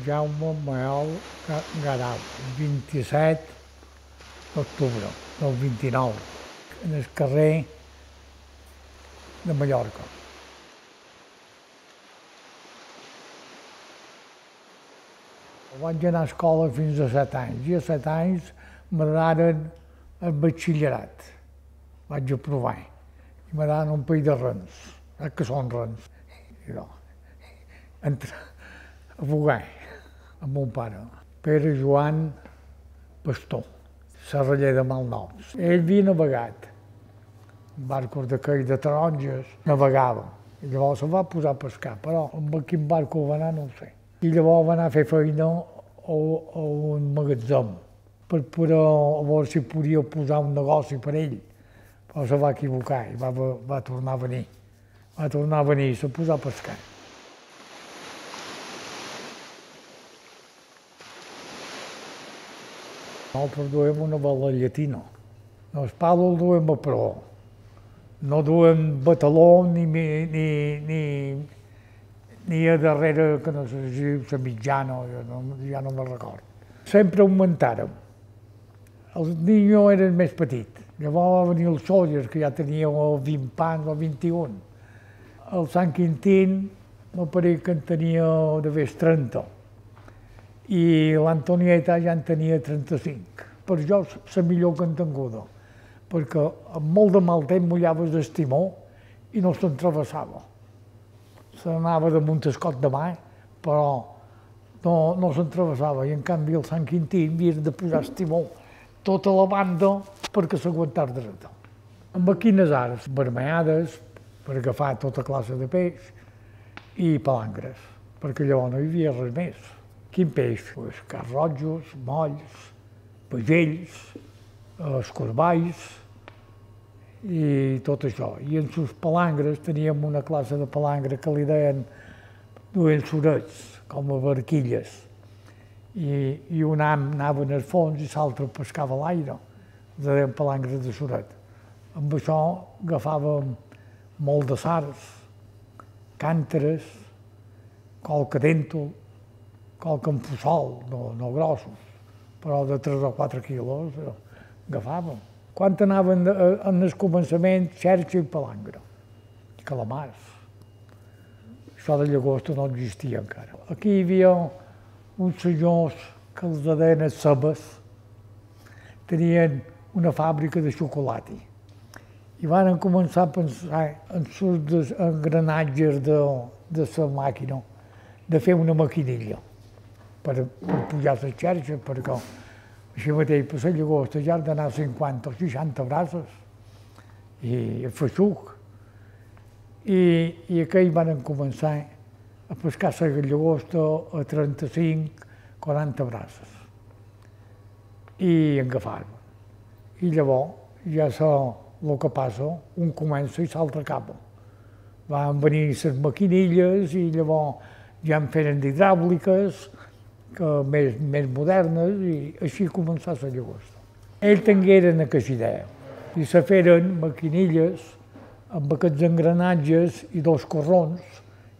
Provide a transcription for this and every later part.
Jaume Mael Garau, 27 d'octubre del 29, en el carrer de Mallorca. Vaig anar a escola fins a 7 anys i a 7 anys m'agradaren el batxillerat. Vaig aprovar i m'agradaren un parell de rens, que són rens. I no, a bugar amb mon pare, Pere Joan Pastor, serraller de Malnoms. Ell havia navegat, en barcos d'aquells de taronges, navegava. I llavors se va posar a pescar, però amb quin barco va anar no ho sé. I llavors va anar a fer feina a un magatzem per poder a veure si podia posar un negoci per ell. Però se va equivocar i va tornar a venir. Va tornar a venir i se posà a pescar. Nosaltres duem una vela llatina. El pal el duem a proa. No duem bataló ni a darrere, que no sé si la mitjana, ja no me'n recordo. Sempre augmentàrem. El niño era el més petit. Llavors va venir el Sóller, que ja tenia 20 pans o 21. El Sant Quintín, m'apareix que en tenia d'haver 30. I l'Antonieta ja en tenia 35. Per jo, la millor que en tinguda, perquè amb molt de mal temps mullaves el timó i no se'n travessava. Se n'anava damunt el cot de mà, però no se'n travessava. I en canvi el Sant Quintí havia de posar el timó tota la banda perquè s'aguantava dreta. Amb quines arts? Vermellades, per agafar tota classe de peix, i palangres, perquè llavors no hi havia res més. Quin peix? Carrojos, molls, pagells, escorballs i tot això. I en les palangres teníem una classe de palangre que li deien duien sorets, com a barquilles. I un am anava en el fons i l'altre pescava a l'aire. Els deien palangres de soret. Amb això agafàvem molt de sards, cànteres, qualque dèntol, qualque empussol, no grossos, però de 3 o 4 quilos agafàvem. Quan anaven en el començament, xerxa i palangre, i calamars. Això de llagosta no existia encara. Aquí hi havia uns senyors que els deien Sebes, tenien una fàbrica de xocolata i van començar a pensar en els engranatges de la màquina, de fer una maquinilla per pujar la xarxa, perquè així mateix per la llagosta ja han d'anar 50 o 60 braces i a feixuc. I aquells van començar a pescar la llagosta a 35-40 braces i agafar-la. I llavors ja el que passa, un comença i l'altre acaba. Van venir les maquinilles i llavors ja en feren d'hidràuliques, més modernes, i així començà la llagosta. Ells tingueren aquesta idea i se feren maquinilles amb aquests engranatges i 2 corrons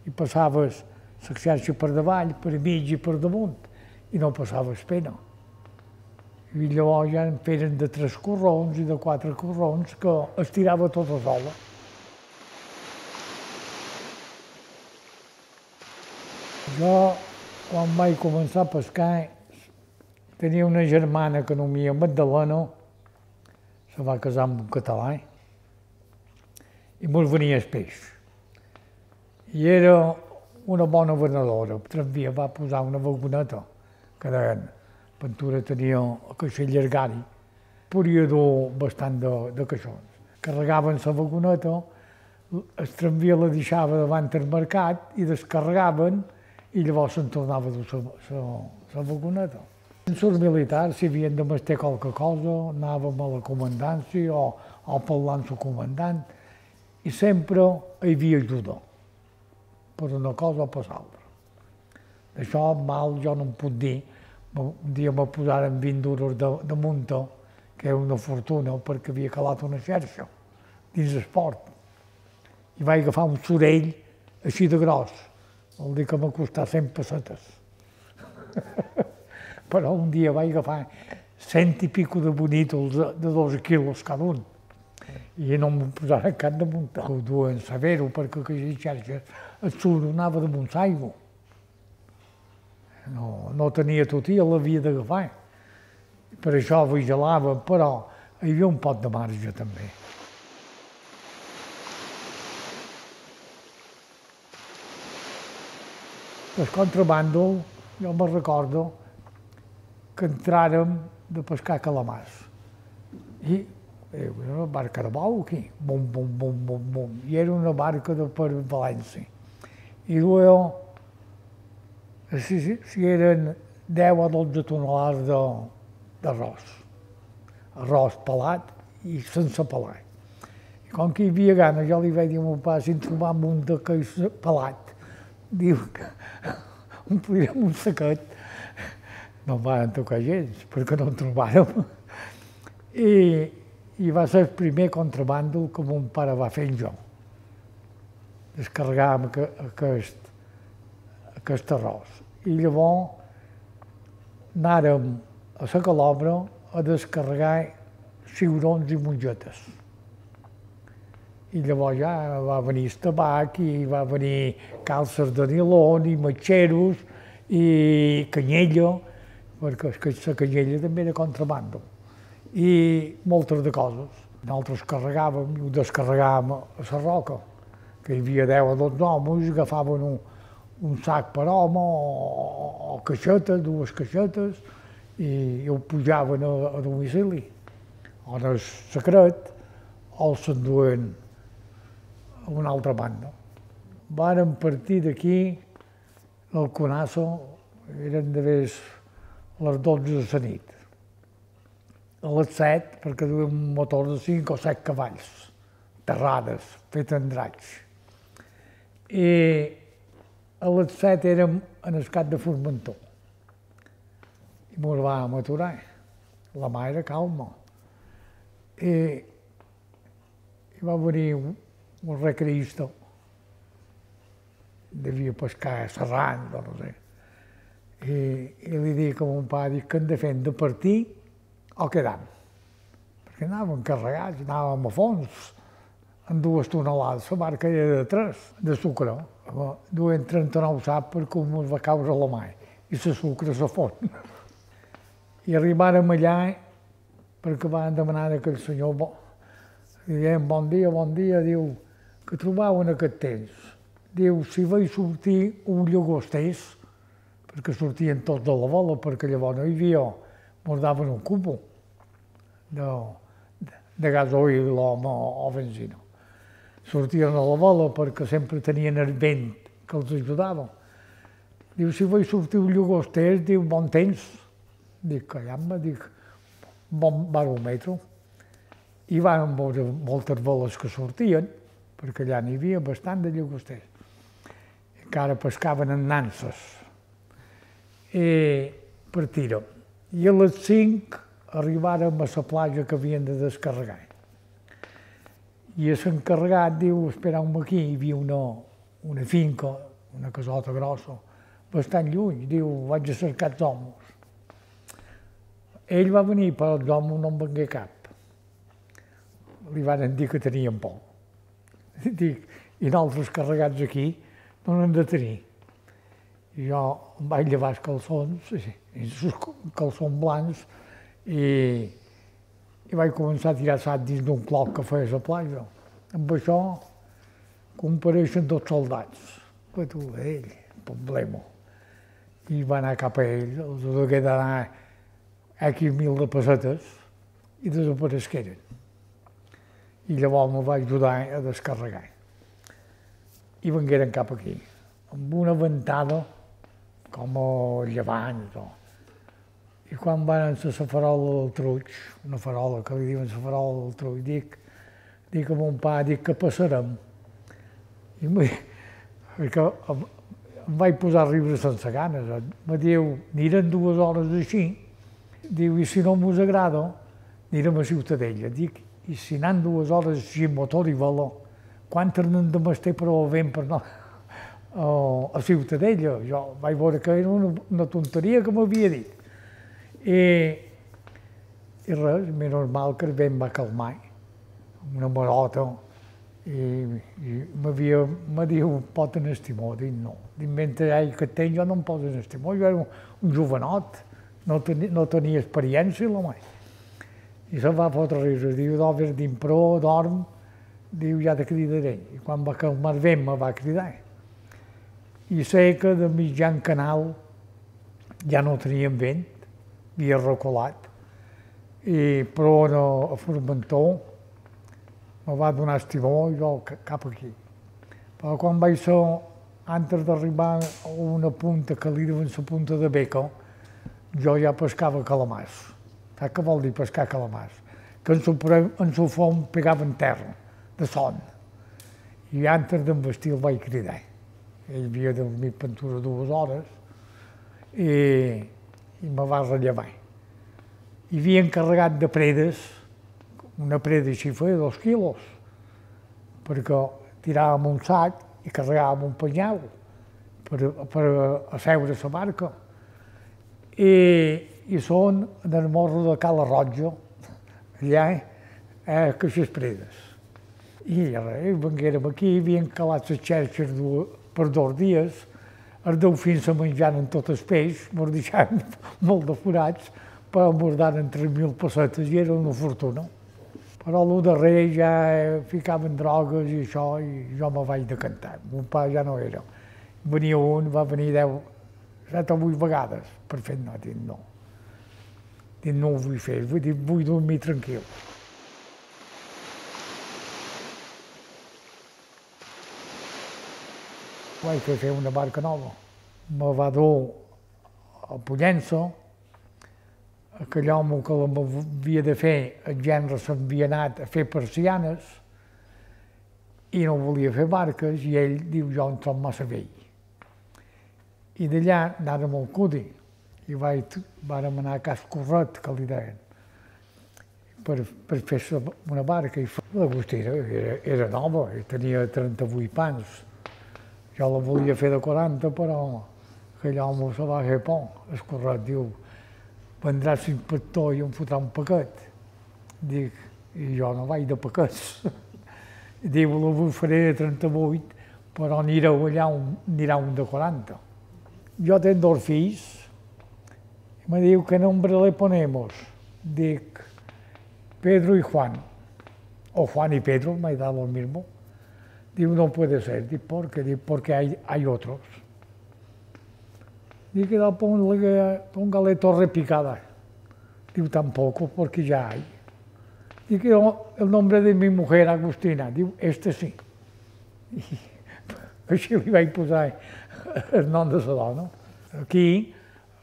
i passaves la xarxa per davall, per mig i per damunt i no passaves pena. I llavors ja en feren de 3 corrons i de 4 corrons que es tirava tota sola. Jo, quan vaig començar a pescar, tenia una germana que nomia Magdalena, se va casar amb un català, i mos venia el peix. I era una bona venedora. Tramvia va posar una vagoneta, que deien, Ventura tenia el caixer llargari, podia dur bastant de caixons. Carregaven la vagoneta, el tramvia la deixava davant del mercat i descarregaven i llavors se'n tornava a dur la vagoneta. En els militars, si havien de mestir qualque cosa, anàvem a la comandància o parlant amb el comandant i sempre hi havia ajuda, per una cosa o per l'altra. D'això mal jo no em puc dir. Un dia me posaren 20 duros de munta, que era una fortuna perquè havia calat una xarxa dins el port. I vaig agafar un sorell així de gros. Vol dir que m'ha costat 100 pessetes. Però un dia vaig agafar 100 i pico de bonitos de 12 quilos cada un. I no m'ho posaren cap damunt. Ho duen severo perquè aquella xarxa el suro anava damunt l'aigua. No tenia tot i l'havia d'agafar. Per això vigilava, però hi havia un pot de marge també. El contrabando, jo me'n recordo que entràrem de pescar calamars. I era una barca de bou aquí, bum, bum, bum, bum, bum. I era una barca per València. I duia, si eren 10 o 12 tonelades d'arròs. Arròs pelat i sense pelar. I com que hi havia gana, jo li vaig dir a meu pare, si en trobam un d'aquells pelat, diu que omplirem un saquet. No em van tocar gens, perquè no en trobàrem. I va ser el primer contrabando que mon pare va fer jo. Descarregàvem aquest arròs. I llavors anàrem a la Calobra a descarregar ciurons i mongetes. I llavors ja va venir el tabac i va venir calces de nilon i matxeros i canyella, perquè la canyella també era contrabando, i moltes de coses. Nosaltres carregàvem i ho descarregàvem a la roca, que hi havia 10 o 12 homes, agafaven un sac per home o caixetes, 2 caixetes, i ho pujaven a domicili. O en el secret, o s'enduen a una altra banda. Vàrem partir d'aquí, al Conasso, eren d'haver les 12 de la nit. A les 7, perquè duien un motor de 5 o 7 cavalls, terrades, fet en dracs. I a les 7 érem en el cap de Formentor. I ens vam aturar. La mà era calma. I va venir un recreista, devia pescar serrant, no sé. I li dic a mon pare que hem de fer, de partir o quedam. Perquè anàvem carregats, anàvem a fons, amb 2 tonelades, la barca era de 3, de sucre. Duien 39 sacs perquè ens va caure la mà, i la sucre se fon. I arribàrem allà, perquè van demanar aquell senyor, diem bon dia, diu, que trobaven aquest temps. Diu, si veig sortir un llagostès, perquè sortien tots de la vola, perquè llavors no hi havia, ens daven un cubo de gasoil o benzina. Sortien a la vola perquè sempre tenien el vent que els ajudava. Diu, si veig sortir un llagostès, diu, bon temps. Dic, callam-me, dic, bon baròmetre. I van veure moltes veles que sortien, perquè allà n'hi havia bastant de llagosters. Encara pescaven en nanses. I partirem. I a les 5 arribàrem a la platja que havien de descarregar. I l'encarregat diu, espereu-me aquí, hi havia una finca, una casota grossa, bastant lluny. Diu, vaig a cercar els homes. Ell va venir, però els homes no en vengué cap. Li van dir que tenien por. Dic, i nosaltres carregats aquí no n'hem de tenir. I jo em vaig llevar els calçons, calçons blancs, i vaig començar a tirar sac dins d'un cloc que feia a la platja. Amb això compareixen 2 soldats. Que tu, ell, problema. I va anar cap a ell, els hagué d'anar X 1.000 de pessetes i desaparegueren. I llavors me va ajudar a descarregar. I vengueren cap aquí, amb una ventada com a llevant. I quan van a la farola del Truig, una farola que li diuen la farola del Truig, dic a mon pare, dic que passarem. Perquè em vaig posar a riure sense ganes. Me diu, anirem 2 hores així, diu, i si no mos agrada, anirem a Ciutadella. Dic, i si anant 2 hores així, motor i vela, quantes n'hem de mester per al vent per a Ciutadella. Jo vaig veure que era una tonteria que m'havia dit. I res, és normal que el vent va calmar, una marota, i me diu, pot en estimó? Dic, no. Dic, mentre que tenc jo no em poso en estimó, jo era un jovenot, no tenia experiència, l'home. I se'n va fotre riure, diu, d'obres d'impró, dorm, diu, ja te cridaré. I quan va calmar el vent me va cridar. I sé que de mitjan canal ja no teníem vent, havia reculat, però a Formentor me va donar estimó i jo cap aquí. Però quan vaig ser, antes d'arribar a una punta que li diuen la punta de Beca, jo ja pescava calamars. Saps què vol dir pescar calamars? Que en su fons pegaven terra, de son. I antes d'envestir el vaig cridar. Ell havia dormit pintura 2 hores i me va rellevar. Hi havia encarregat de predes, una preda així feia 2 quilos, perquè tiràvem un sac i carregàvem un penyal per asseure la barca. I són en el morro de Cala Roja, allà, aquestes predes. I venguérem aquí, havien calat les xerxes per 2 dies, els delfins se menjaren tot el peix, ens deixaven molt de forats, però ens daren 3.000 pessetes i era una fortuna. Però el darrer ja ficaven drogues i això, i jo me vaig decantar. Mon pare ja no era. Venia un, va venir 7 o 8 vegades per fer no, dic no. Dic no ho vull fer, vull dormir tranquil. Vaig fer una barca nova. Me va dur a Pollença. Aquell home que m'havia de fer, el gendre s'havia anat a fer persianes i no volia fer barques i ell diu, jo em trobo massa vell. I d'allà anàrem al Cudi i vàrem anar a Cas Corret, que li deien, per fer una barca. L'Agustí era nova, tenia 38 pans. Jo la volia fer de 40, però aquell home se va fer por. El Corret diu, vendrà l'inspector i em fotrà un paquet. Dic, i jo no vaig de paquets. Diu, la vull faré de 38, però anireu allà, anirà un de 40. Jo tenc 2 fills, i me diu, ¿qué nombre le ponemos? Dic, Pedro y Juan. O Juan y Pedro, me da lo mismo. Diu, no puede ser. Dic, ¿por qué? Dic, porque hay otros. Dic, póngale torre picada. Diu, tampoco, porque ya hay. Dic, el nombre de mi mujer, Agustina. Diu, este sí. I així li vaig posar el nom de la dona. Aquí,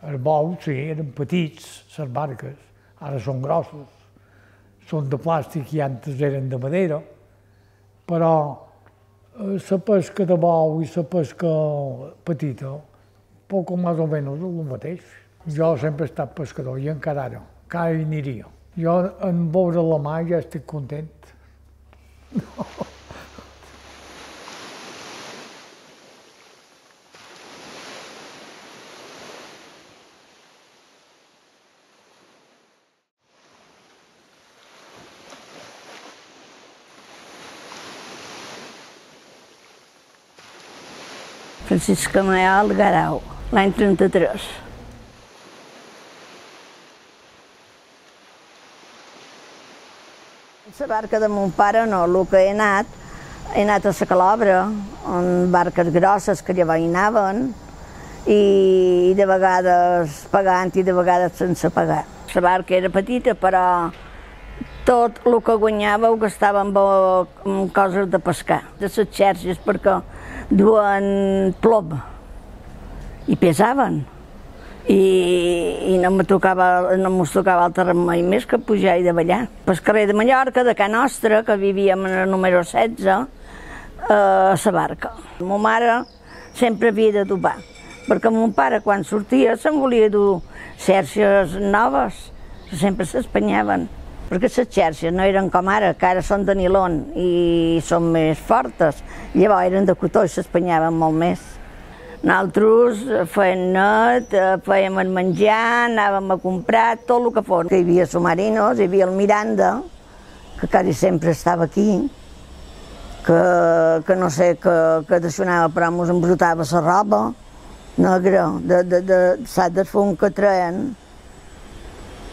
els bous, sí, eren petits, les barques, ara són grossos. Són de plàstic i antes eren de madera, però la pesca de bou i la pesca petita, poc o més o menys el mateix. Jo sempre he estat pescador i encara ara hi aniria. Jo en veure la mà ja estic content. Francisca Mayal Garau, l'any 33. La barca de mon pare no, el que he anat a la Calobra, amb barques grosses que llavors hi anaven, i de vegades pagant i de vegades sense pagar. La barca era petita, però tot el que guanyava ho gastava en coses de pescar, de les xerxes, perquè duen plom i pesaven. I no mos tocava altre remei més que pujar i davallar. Pel carrer de Mallorca, de Can Nostra, que vivíem en el número 16, a la barca. Ma mare sempre havia de dubar, perquè mon pare, quan sortia, se'n volia dur xerxes noves, sempre s'espanyaven, perquè les xerxes no eren com ara, que ara són de nilon i són més fortes. Llavors eren de cotó i s'espanyaven molt més. Nosaltres fèiem net, fèiem el menjar, anàvem a comprar, tot el que fos. Hi havia submarinos, hi havia el Miranda, que quasi sempre estava aquí, que no sé què deixonava, però ens embrutava la roba negra, saps, del fum que treien.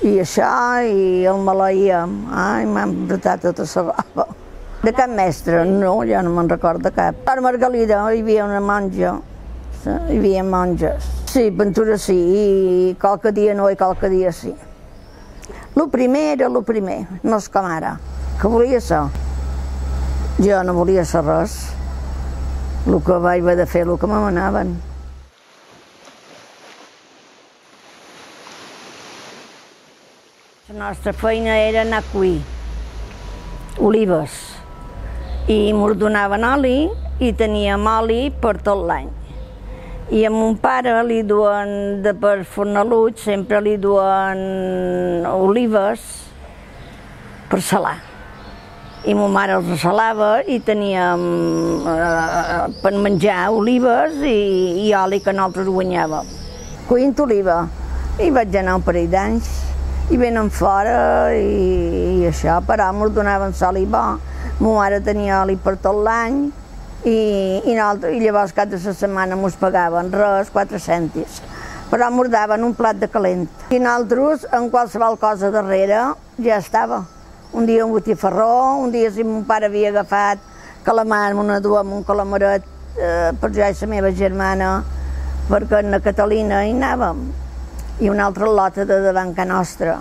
I això, i el maleïem, m'han embrutat tota la roba. De cap mestre, no, jo no me'n recordo cap. A Margalida hi havia una monja, hi havia monges. Sí, pintura sí, i qualque dia no i qualque dia sí. El primer era el primer, no és com ara, que volia ser. Jo no volia ser res, el que vaig haver de fer, el que me manaven. La nostra feina era anar a cuir olives i ens donaven oli i teníem oli per tot l'any. I a mon pare li duen, per Fornalut, sempre li duen olives per salar. I ma mare els salava i teníem per menjar olives i oli que nosaltres guanyàvem. Cuint oliva. I vaig anar un parell d'anys. I venen fora i això, però ens donaven oli bo. Ma mare tenia oli per tot l'any i llavors cada setmana ens pagaven res, 4 cèntims. Però ens daven un plat de calent. I nosaltres, en qualsevol cosa darrere, ja estava. Un dia un botifarró, un dia si mon pare havia agafat calamar, me duem un calamaret per jo i la meva germana, perquè a Catalina hi anàvem. I una altra lota de davant ca nostra.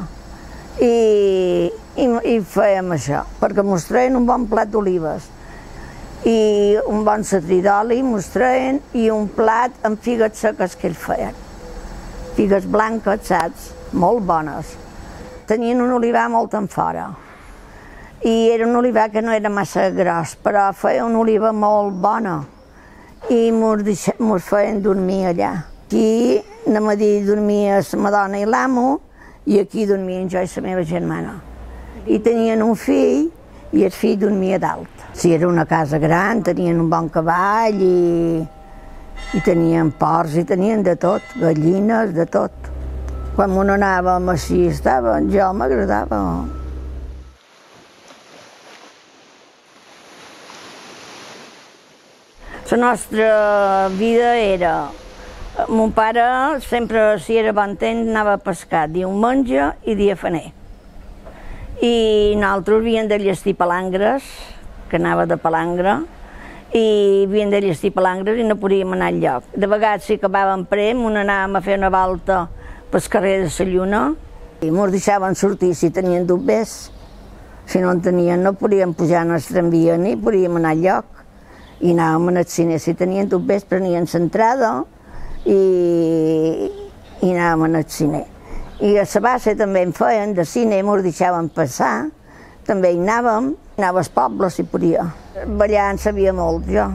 I fèiem això, perquè mos treien un bon plat d'olives i un bon setrí d'oli mos treien i un plat amb figues seques que ells feien. Figues blanques, saps? Molt bones. Tenien un olivar molt en fora. I era un olivar que no era massa gros, però feia una oliva molt bona. I mos feien dormir allà. Aquí anem a dir dormia la madona i l'amo i aquí dormien jo i la meva germana. I tenien un fill i el fill dormia dalt. Si era una casa gran, tenien un bon cavall i tenien porcs i tenien de tot, gallines, de tot. Quan me n'anàvem així estaven, jo m'agradava. La nostra vida era... Mon pare sempre, si era bon temps, anava a pescar diumenge i dia faner. I nosaltres havíem de llestir palangres, que anava de palangre, i havíem de llestir palangres i no podíem anar enlloc. De vegades, si acabàvem prem, anàvem a fer una volta pel carrer de la Lluna i ens deixaven sortir si tenien dobbers. Si no en tenien, no podíem pujar en el tramvia ni podíem anar enlloc. I anàvem al cine. Si tenien dobbers, prenien l'entrada i anàvem al cine. I a la base també en feien, de cine ens deixaven passar, també hi anàvem, anava als pobles si podia. Ballar en sabia molt, jo.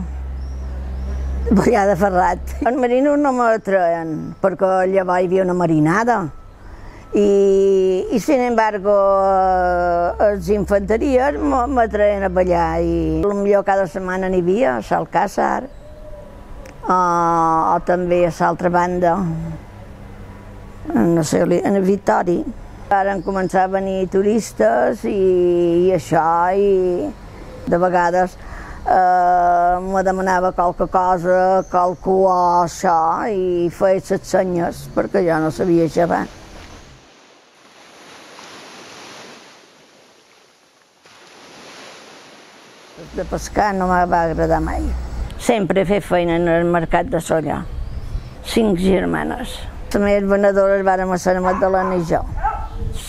Ballar de ferrat. Els marinos no me treien, perquè llavors hi havia una marinada. I sin embargo, els infanteries me treien a ballar i potser cada setmana n'hi havia, a Alcàsser, o també a l'altra banda, no sé, a Vitori. Van començar a venir turistes i això, i de vegades me demanava qualque cosa, qualcú o això, i feia les senyes, perquè jo no sabia xavar. De pescar no me va agradar mai. Sempre he fet feina en el mercat de Sollà. 5 germanes. Les meves venedores vàrem ser la Magdalena i jo.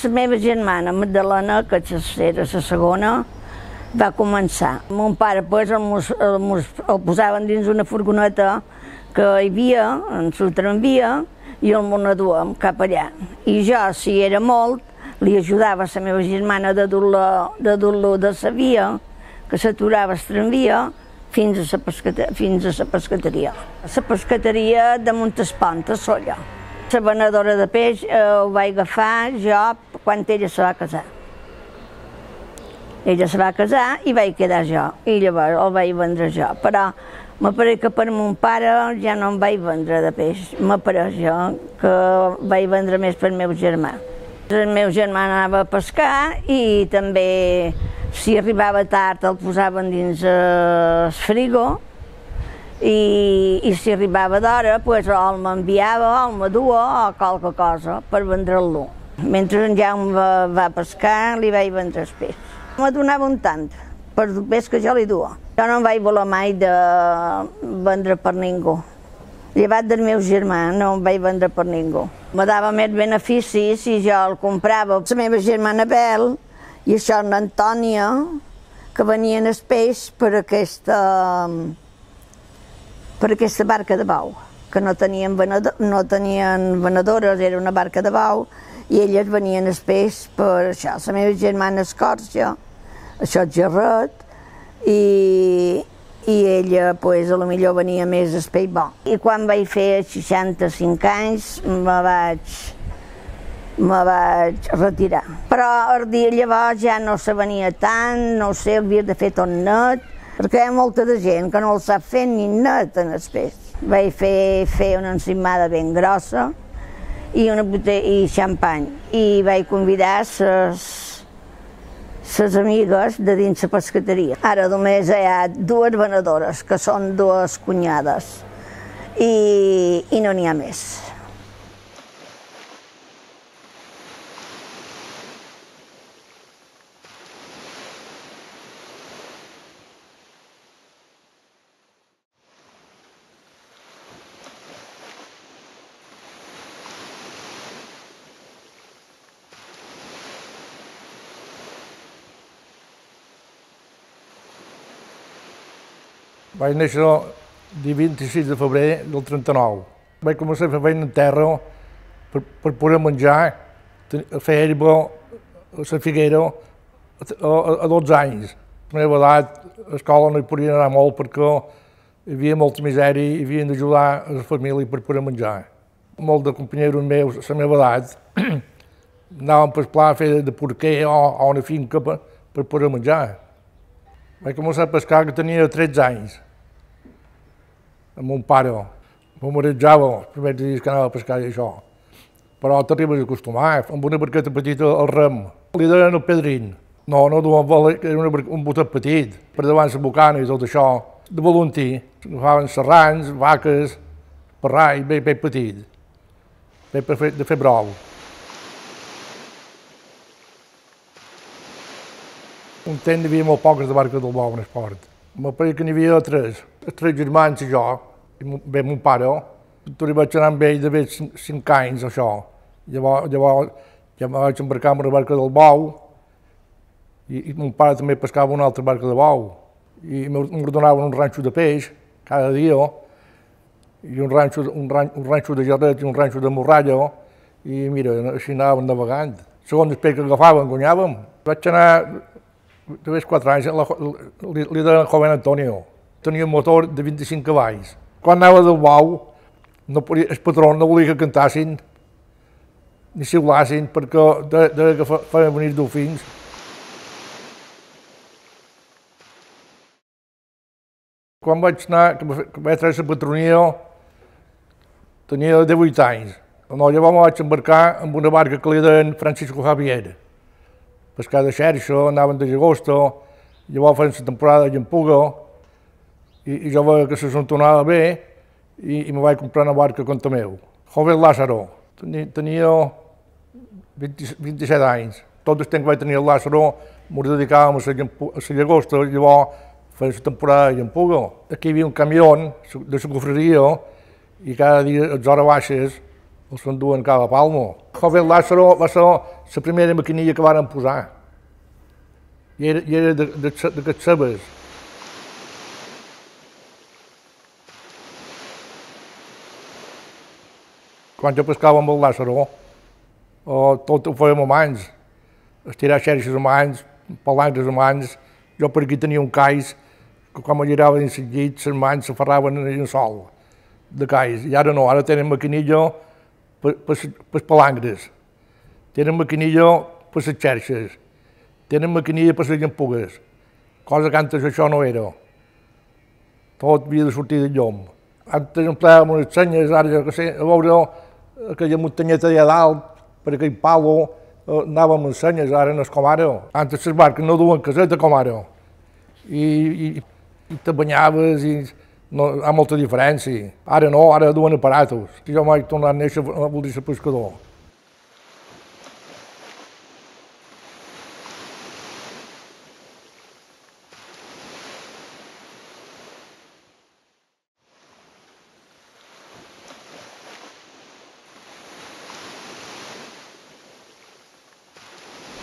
La meva germana, Magdalena, que era la segona, va començar. Mon pare el posaven dins una furgoneta que hi havia, en el tramvia, i el duem cap allà. I jo, si era molt, li ajudava a la meva germana de dur-lo de la via, que s'aturava el tramvia, fins a la pescateria. La pescateria de Montespont, a Sollà. La venedora de peix ho vaig agafar jo quan ella se va casar. Ella se va casar i vaig quedar jo, i llavors el vaig vendre jo. Però M'apareix que per mon pare ja no em vaig vendre de peix. M'apareix jo que vaig vendre més per meu germà. El meu germà anava a pescar i també, si arribava tard, el posaven dins el frigo i si arribava d'hora, o el m'enviava o el m'adua o qualque cosa per vendre-lo. Mentre en Jaume va pescar, li vaig vendre el peix. Me donava un tant per el peix que jo li duia. Jo no em vaig voler mai de vendre per ningú. Llevat del meu germà, no em vaig vendre per ningú. Me dava més beneficis si jo el comprava. La meva germana Bel i això l'Antònia, que venien el peix per aquesta barca de bou, que no tenien venedores, era una barca de bou, i elles venien el peix per això. La meva germana Escorja, això és Gerret, i ella, potser venia més el peix bo. I quan vaig fer 65 anys me vaig retirar. Però el dia llavors ja no se venia tant, no sé, havia de fer tot net, perquè hi ha molta de gent que no el sap fer ni net en el peix. Vaig fer una encimada ben grossa i una botella i xampany, i vaig convidar les amigues de dins la pescateria. Ara només hi ha dues venedores, que són dues cunyades, i no n'hi ha més. Vaig néixer el 26 de febrer del 39. Vaig començar a fer feina en terra per poder menjar, a fer herba a la figuera a 12 anys. A la meva edat, a l'escola no hi podien anar molt perquè hi havia molta misèria i havien d'ajudar a la família per poder menjar. Molts de companyeros meus a la meva edat anaven per pla a fer de porquer o a una finca per poder menjar. Vaig començar a pescar que tenia 13 anys, amb mon pare. M'ho marejava els primers dies que anava a pescar i això. Però t'arribes a acostumar, amb una barqueta petita al rem. Li deien el Pedrín. No duien vela, era un botet petit, per davant la bocana i tot això. De volantí, agafaven serrans, vaques, parrai, bé petit, bé de fer brou. Un temps hi havia molt poques de barques del bou en esport. M'apareix que n'hi havia tres germans i jo, i mon pare. Tot vaig anar amb ell d'haver 5 anys, això. Llavors ja em vaig embarcar amb una barca del bou i mon pare també pescava una altra barca de bou. I m'ordenaven un ranxo de peix cada dia, i un ranxo de jarret i un ranxo de morralla, i mira, així anàvem navegant. Segons el peix que agafàvem, guanyàvem. Vaig anar de 4 anys, li deien Joven Antonio. Tenia un motor de 25 cavalls. Quan anava del bou, el patró no volia que cantassin ni xiulassin perquè deia que feien venir dofins. Quan vaig anar, que vaig treure la patronia, tenia 18 anys. Llavors me vaig embarcar amb una barca que li deien Francisco Javier. Pescar de xerxa, anaven de llagosta, llavors feien la temporada de llampuga, i jo veia que se s'entonava bé i me vaig comprar una barca contra meu. Joven Lázaro, tenia 27 anys. Tot el temps que vaig tenir el Lázaro m'ho dedicàvem a la llagosta, llavors feien la temporada de llampuga. Aquí hi havia un camió de la cofreria i cada dia les hores baixes els s'enduen cada palmo. Joven Lázaro va ser la primera maquinilla que varen posar. I era d'aquests cebes. Quan jo pescava amb el Lázaro, tot ho fèiem a mans. Estirar xerxes a mans, palangres a mans. Jo per aquí tenia un cais que quan me girava dins el llit, les mans s'aferraven en el sol de cais. I ara no, ara tenen maquinilla per les palangres. Tenen maquinilla per les xerxes. Tenen maquinilla per les llampugues. Cosa que antes això no era. tot havia de sortir de llum. Antes emplàvem unes senyes, ara que sé, a veure aquella muntanyeta allà dalt, per aquell palo, anàvem amb senyes, ara no és com ara. Antes les barques no duen caseta com ara. I te banyaves i no, hi ha molta diferència. Ara no, ara duen aparatos. Jo mai he tornat a néixer a voler ser pescador.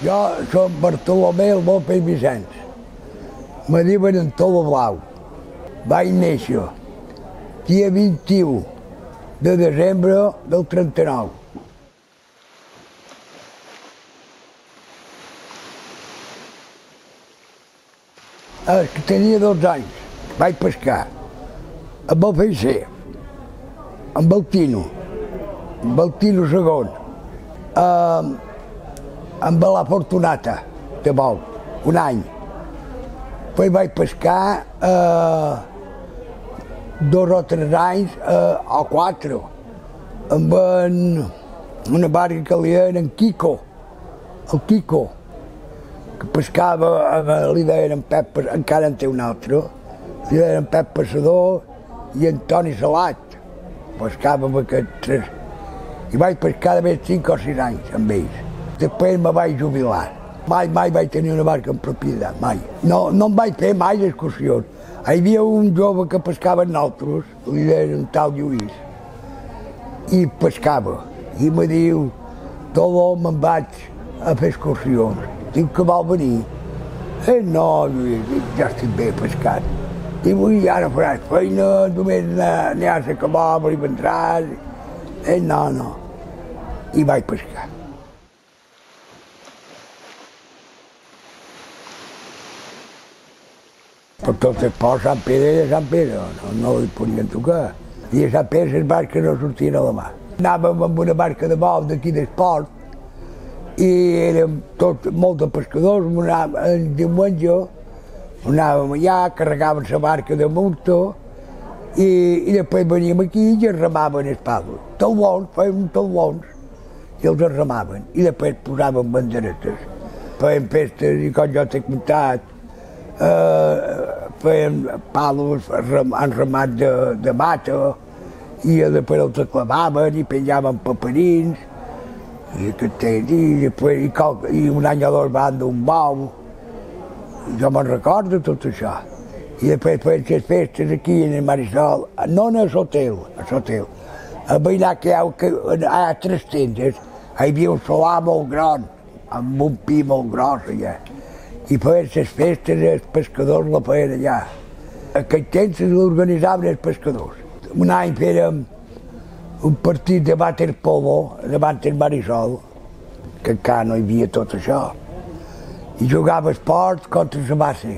Jo soc Bartolomé López Vicens. Me diuen Antoló Blau. Vaig néixer dia 21 de desembre del 39. Que tenia 12 anys, vaig pescar amb el Feixer, amb el Tino II, amb la Fortunata, de vol, un any. Després vaig pescar 2 o 3 anys, o 4, amb una barca que li deien en Quico, el Quico, que pescava, li deien en Pep, encara en té un altre, li deien en Pep Passador i Antoni Salat. Pescava amb aquests 3. I vaig pescar de més 5 o 6 anys amb ells. Després me vaig jubilar. Mai vaig tenir una barca en propietat, mai. No em vaig fer mai excursions. Hi havia un jove que pescava amb nosaltres, li deien un tal Lluís, i pescava. I me diu, Toló, me'n vaig a fer excursions. Diu que vol venir. No, Lluís, ja estic bé pescat. Diu, i ara faràs feina, només aniràs a Calobra i vendràs. No. I vaig pescar. Per tot el port, Sant Pere i Sant Pere, no li podien tocar. I a Sant Pere les barques no sortien a la mà. Anàvem amb una barca de vol d'aquí d'esport i érem tots molts de pescadors, el diumenge anàvem allà, carregàvem la barca de multa i després veníem aquí i ens remaven els palos. Talbons, fèiem talbons i els remaven i després posàvem banderetes. Fèiem festes i com jo t'he contat, feien palos enramats de mata i després els clavaven i penjaven paperins i un any o dos van d'un bou. Jo me'n recordo tot això. I després feien les festes aquí en el Marisol, no en l'hotel, a veïnar que hi ha 3 tendes, hi havia un solar molt gran, amb un pi molt gros allà. I feien les festes, els pescadors la feien allà. Aquell temps l'organitzaven els pescadors. Un any fèiem un partit de waterpolo davant del Marisol, que encara no hi havia tot això. I jugava esports contra la base.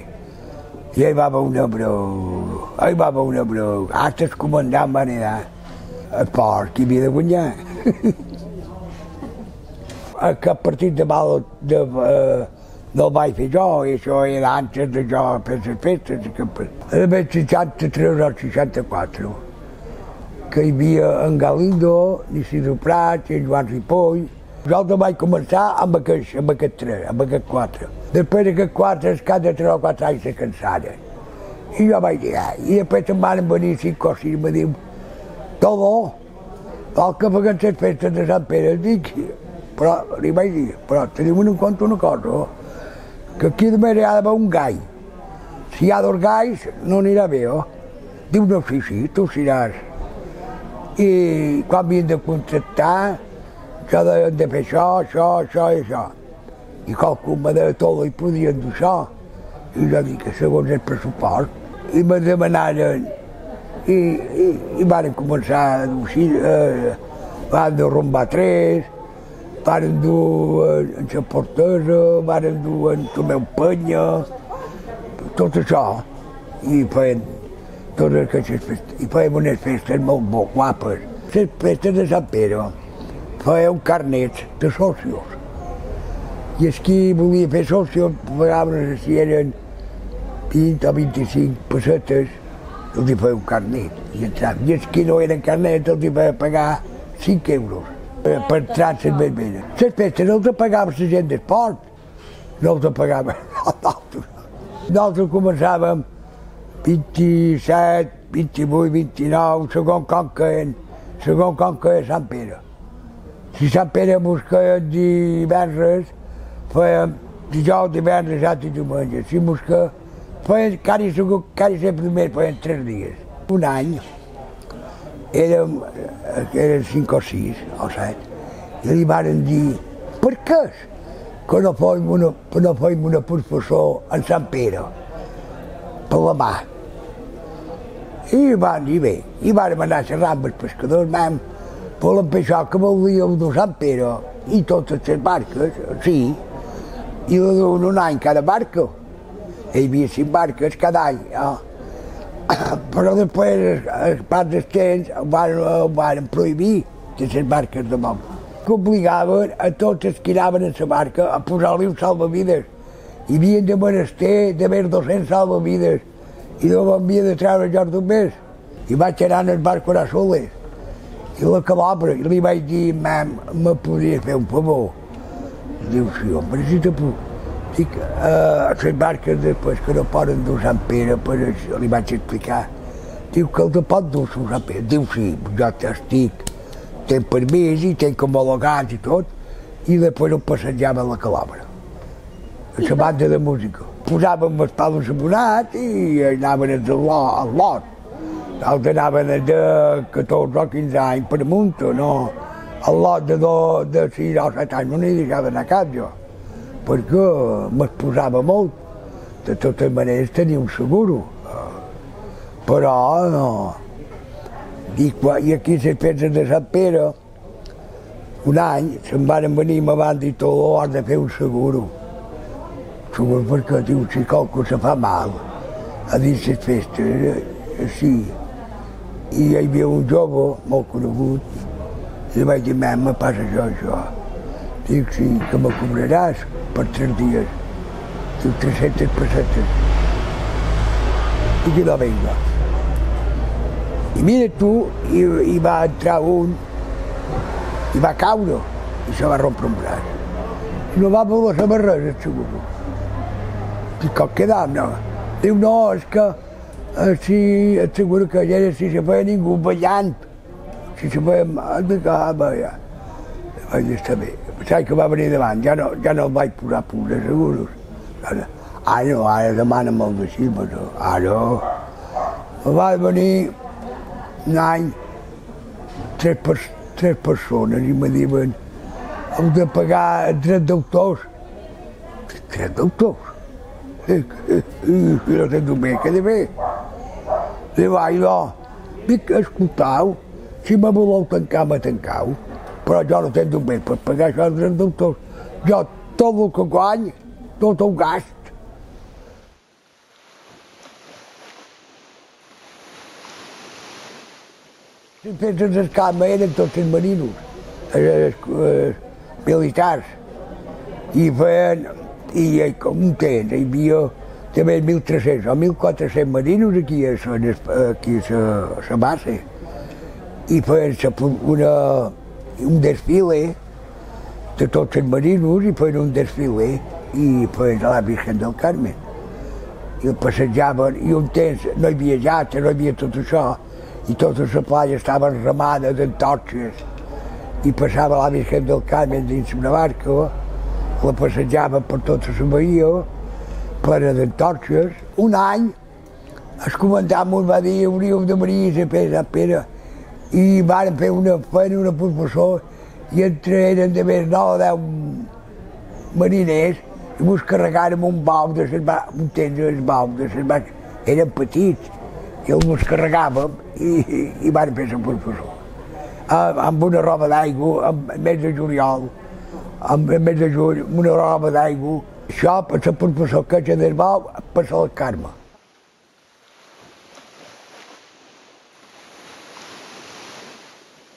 I hi va haver una brou, Hasta el comandant va anar a esport, qui havia de guanyar. Aquest partit de mal no el vaig fer jo, i això era antes de jo fer les festes. Era el 63 o 64, que hi havia en Galindo, l'Isidro Prat i en Joan Ripoll. Nosaltres vaig començar amb aquests 4. Després d'aquests 4, cada 3 o 4 anys se cansaren. I jo vaig dir, i després em van venir 5 o 6 i me diu, Toló, vol que fem les festes de Sant Pere? Dic, però li vaig dir, però tenim en compte una cosa, que aquí només hi ha d'haver un gai. Si hi ha 2 gais, no anirà bé, Diu, no, sí, tu seràs. I quan havien de contractar, que deien de fer això i això. I qualcú me deia tot i podien dur això. I jo dic que segons el pressupost. I me demanaren, i van començar a dur, van dur rumbar 3, van dur en la Portesa, van dur en Tomeu Penya, tot això. I feien totes aquestes festes. I feien unes festes molt guapes. Les festes de Sant Pere feien carnets de socios. I els qui volia fer socios pagaven si eren 20 o 25 pessetes els hi feia un carnet i entraven. I els que no eren carnet els hi feia pagar 5 euros per entrar a les vermelles. Les festes no els pagava la gent d'esport, no els pagava nosaltres. Nosaltres començàvem 27, 28, 29, segons com queia Sant Pere. Si Sant Pere mos queia divendres, fèiem dijous, divendres, dissabte i diumenge. Si mos queia, fèiem quasi sempre més, fèiem 3 dies. Un any érem 5 o 6 o 7 i li varen dir per què que no fèiem una professor en Sant Pere, per la mà. I van dir bé, i vàrem anar a xerrar amb els pescadors, volem fer això que volíem de Sant Pere i totes les barques, sí, i un any cada barca. Hi havia 5 barques cada any, però després, els pas del temps, ho van prohibir de les barques de món. Que obligaven a tots els que anaven en la barca a posar-li un salvavides. Hi havia de menester de més 200 salvavides i no m'havia de treure jo només. I vaig anar en el barco a soles i la calobra, i li vaig dir, me podria fer un favor? Diu, sí, home, si te puc. Dic, les barques després que no poden dur Sant Pere, li vaig explicar. Diu que els pot dur Sant Pere. Diu, sí, jo estic, tenc permís i tenc homologats i tot, i després ho passejava a la calobra, a la banda de música. Posàvem els palos abonats i anaven al lot. Els anaven de 14 o 15 anys per amunt, no? El lot de 6 o 7 anys no n'hi deixava anar cap jo, perquè m'exposava molt. De totes maneres tenia un seguro, però no. I aquí les festes de Sant Pere, un any, se'n van venir, me van dir tot l'hora de fer un seguro. Seguro perquè, diu, si qualcú se fa mal a dins les festes, sí. I hi havia un jove molt conegut, i li vaig dir, me passa això. Dic, sí, que me cobraràs per 3 dies. Diu, 300 pessetes. I que no venga. I mira tu, hi va entrar un, i va caure, i se va rompre un braç. I no va voler saber res, el seguro. Dic, com quedam, no? Diu, no, és que si et seguro que allà si se feia ningú ballant, si se feia mal, ja. Vaig dir, està bé. Pensava que va venir davant, ja no el vaig posar punts de seguros. Ara demana'm el de Xilmes, ara. Va venir un any 3 persones i me diuen heu de pagar 3 d'autors. 3 d'autors? No sento bé, que de bé. Li vaig dir, dic, escoltau, si me voleu tancar, me tancau, però jo no sento bé per pagar això als deutors. Jo tot el que guany, tot ho gast. Les festes d'escama eren tots els marinos, militars, i feien, i com un temps, hi havia també 1.300 o 1.400 marinos aquí a la base, i feien un desfile de tots els marinos, i feien un desfile i feien a la Virgen del Carmen. I el passejaven, i un temps no hi havia llata, no hi havia tot això, i tota la playa estava remada d'antorxes, i passava la Virgen del Carmen dins una barca, la passejava per tota la bahia, plena d'antorxes. Un any, el comandant ens va dir hauríem de venir a Sant Pere, i van fer una professor, i eren de més 9 o 10 mariners, i ens carregàrem un bau de les barques, un temps els baus de les barques, eren petits, i els carregàvem i van fer la professor. Amb una roba d'aigua, al mes de juliol, al mes de juny, una roba d'aigua, això per la professor que és del bau, per la Carme.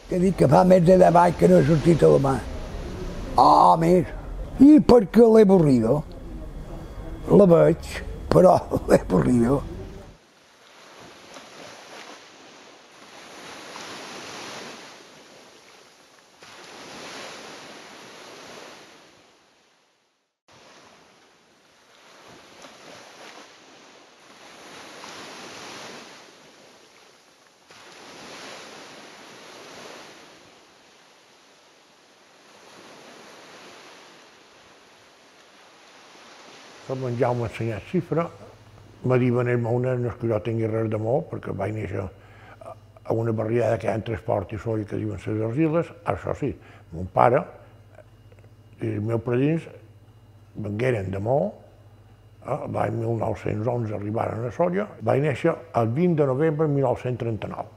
T'he dit que fa més de 10 anys que no he sortit a la mà. Més. I perquè l'he avorrido. La veig, però l'he avorrido. El menjar m'ha ensenyat xifra, me diuen els meus nens que jo tingui res d'amor, perquè vaig néixer a una barriada que hi ha entre Esport i Soll que diuen les Argiles. Això sí, mon pare i els meus padrins vengueren d'amor, l'any 1911 arribaren a Solla, vaig néixer el 20 de novembre de 1939.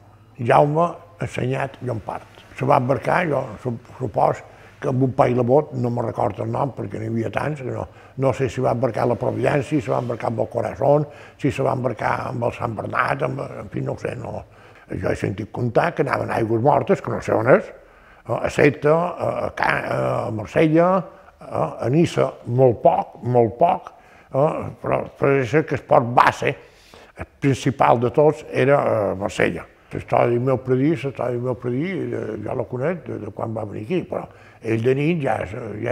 Jaume ha ensenyat Llompart. Se va embarcar, jo supos que amb un país de bot, no me'n recordo el nom perquè n'hi havia tants, que no sé si va embarcar la Providència, si va embarcar amb el Corazón, si se va embarcar amb el Sant Bernat, en fi, no ho sé, no. Jo he sentit contar que anaven a Aigües Mortes, que no sé on és, a Seta, a Marsella, a Niça, molt poc, però pareix que el port base, el principal de tots, era Marsella. La història del meu predí, jo la conec de quan va venir aquí, però ell de nit ja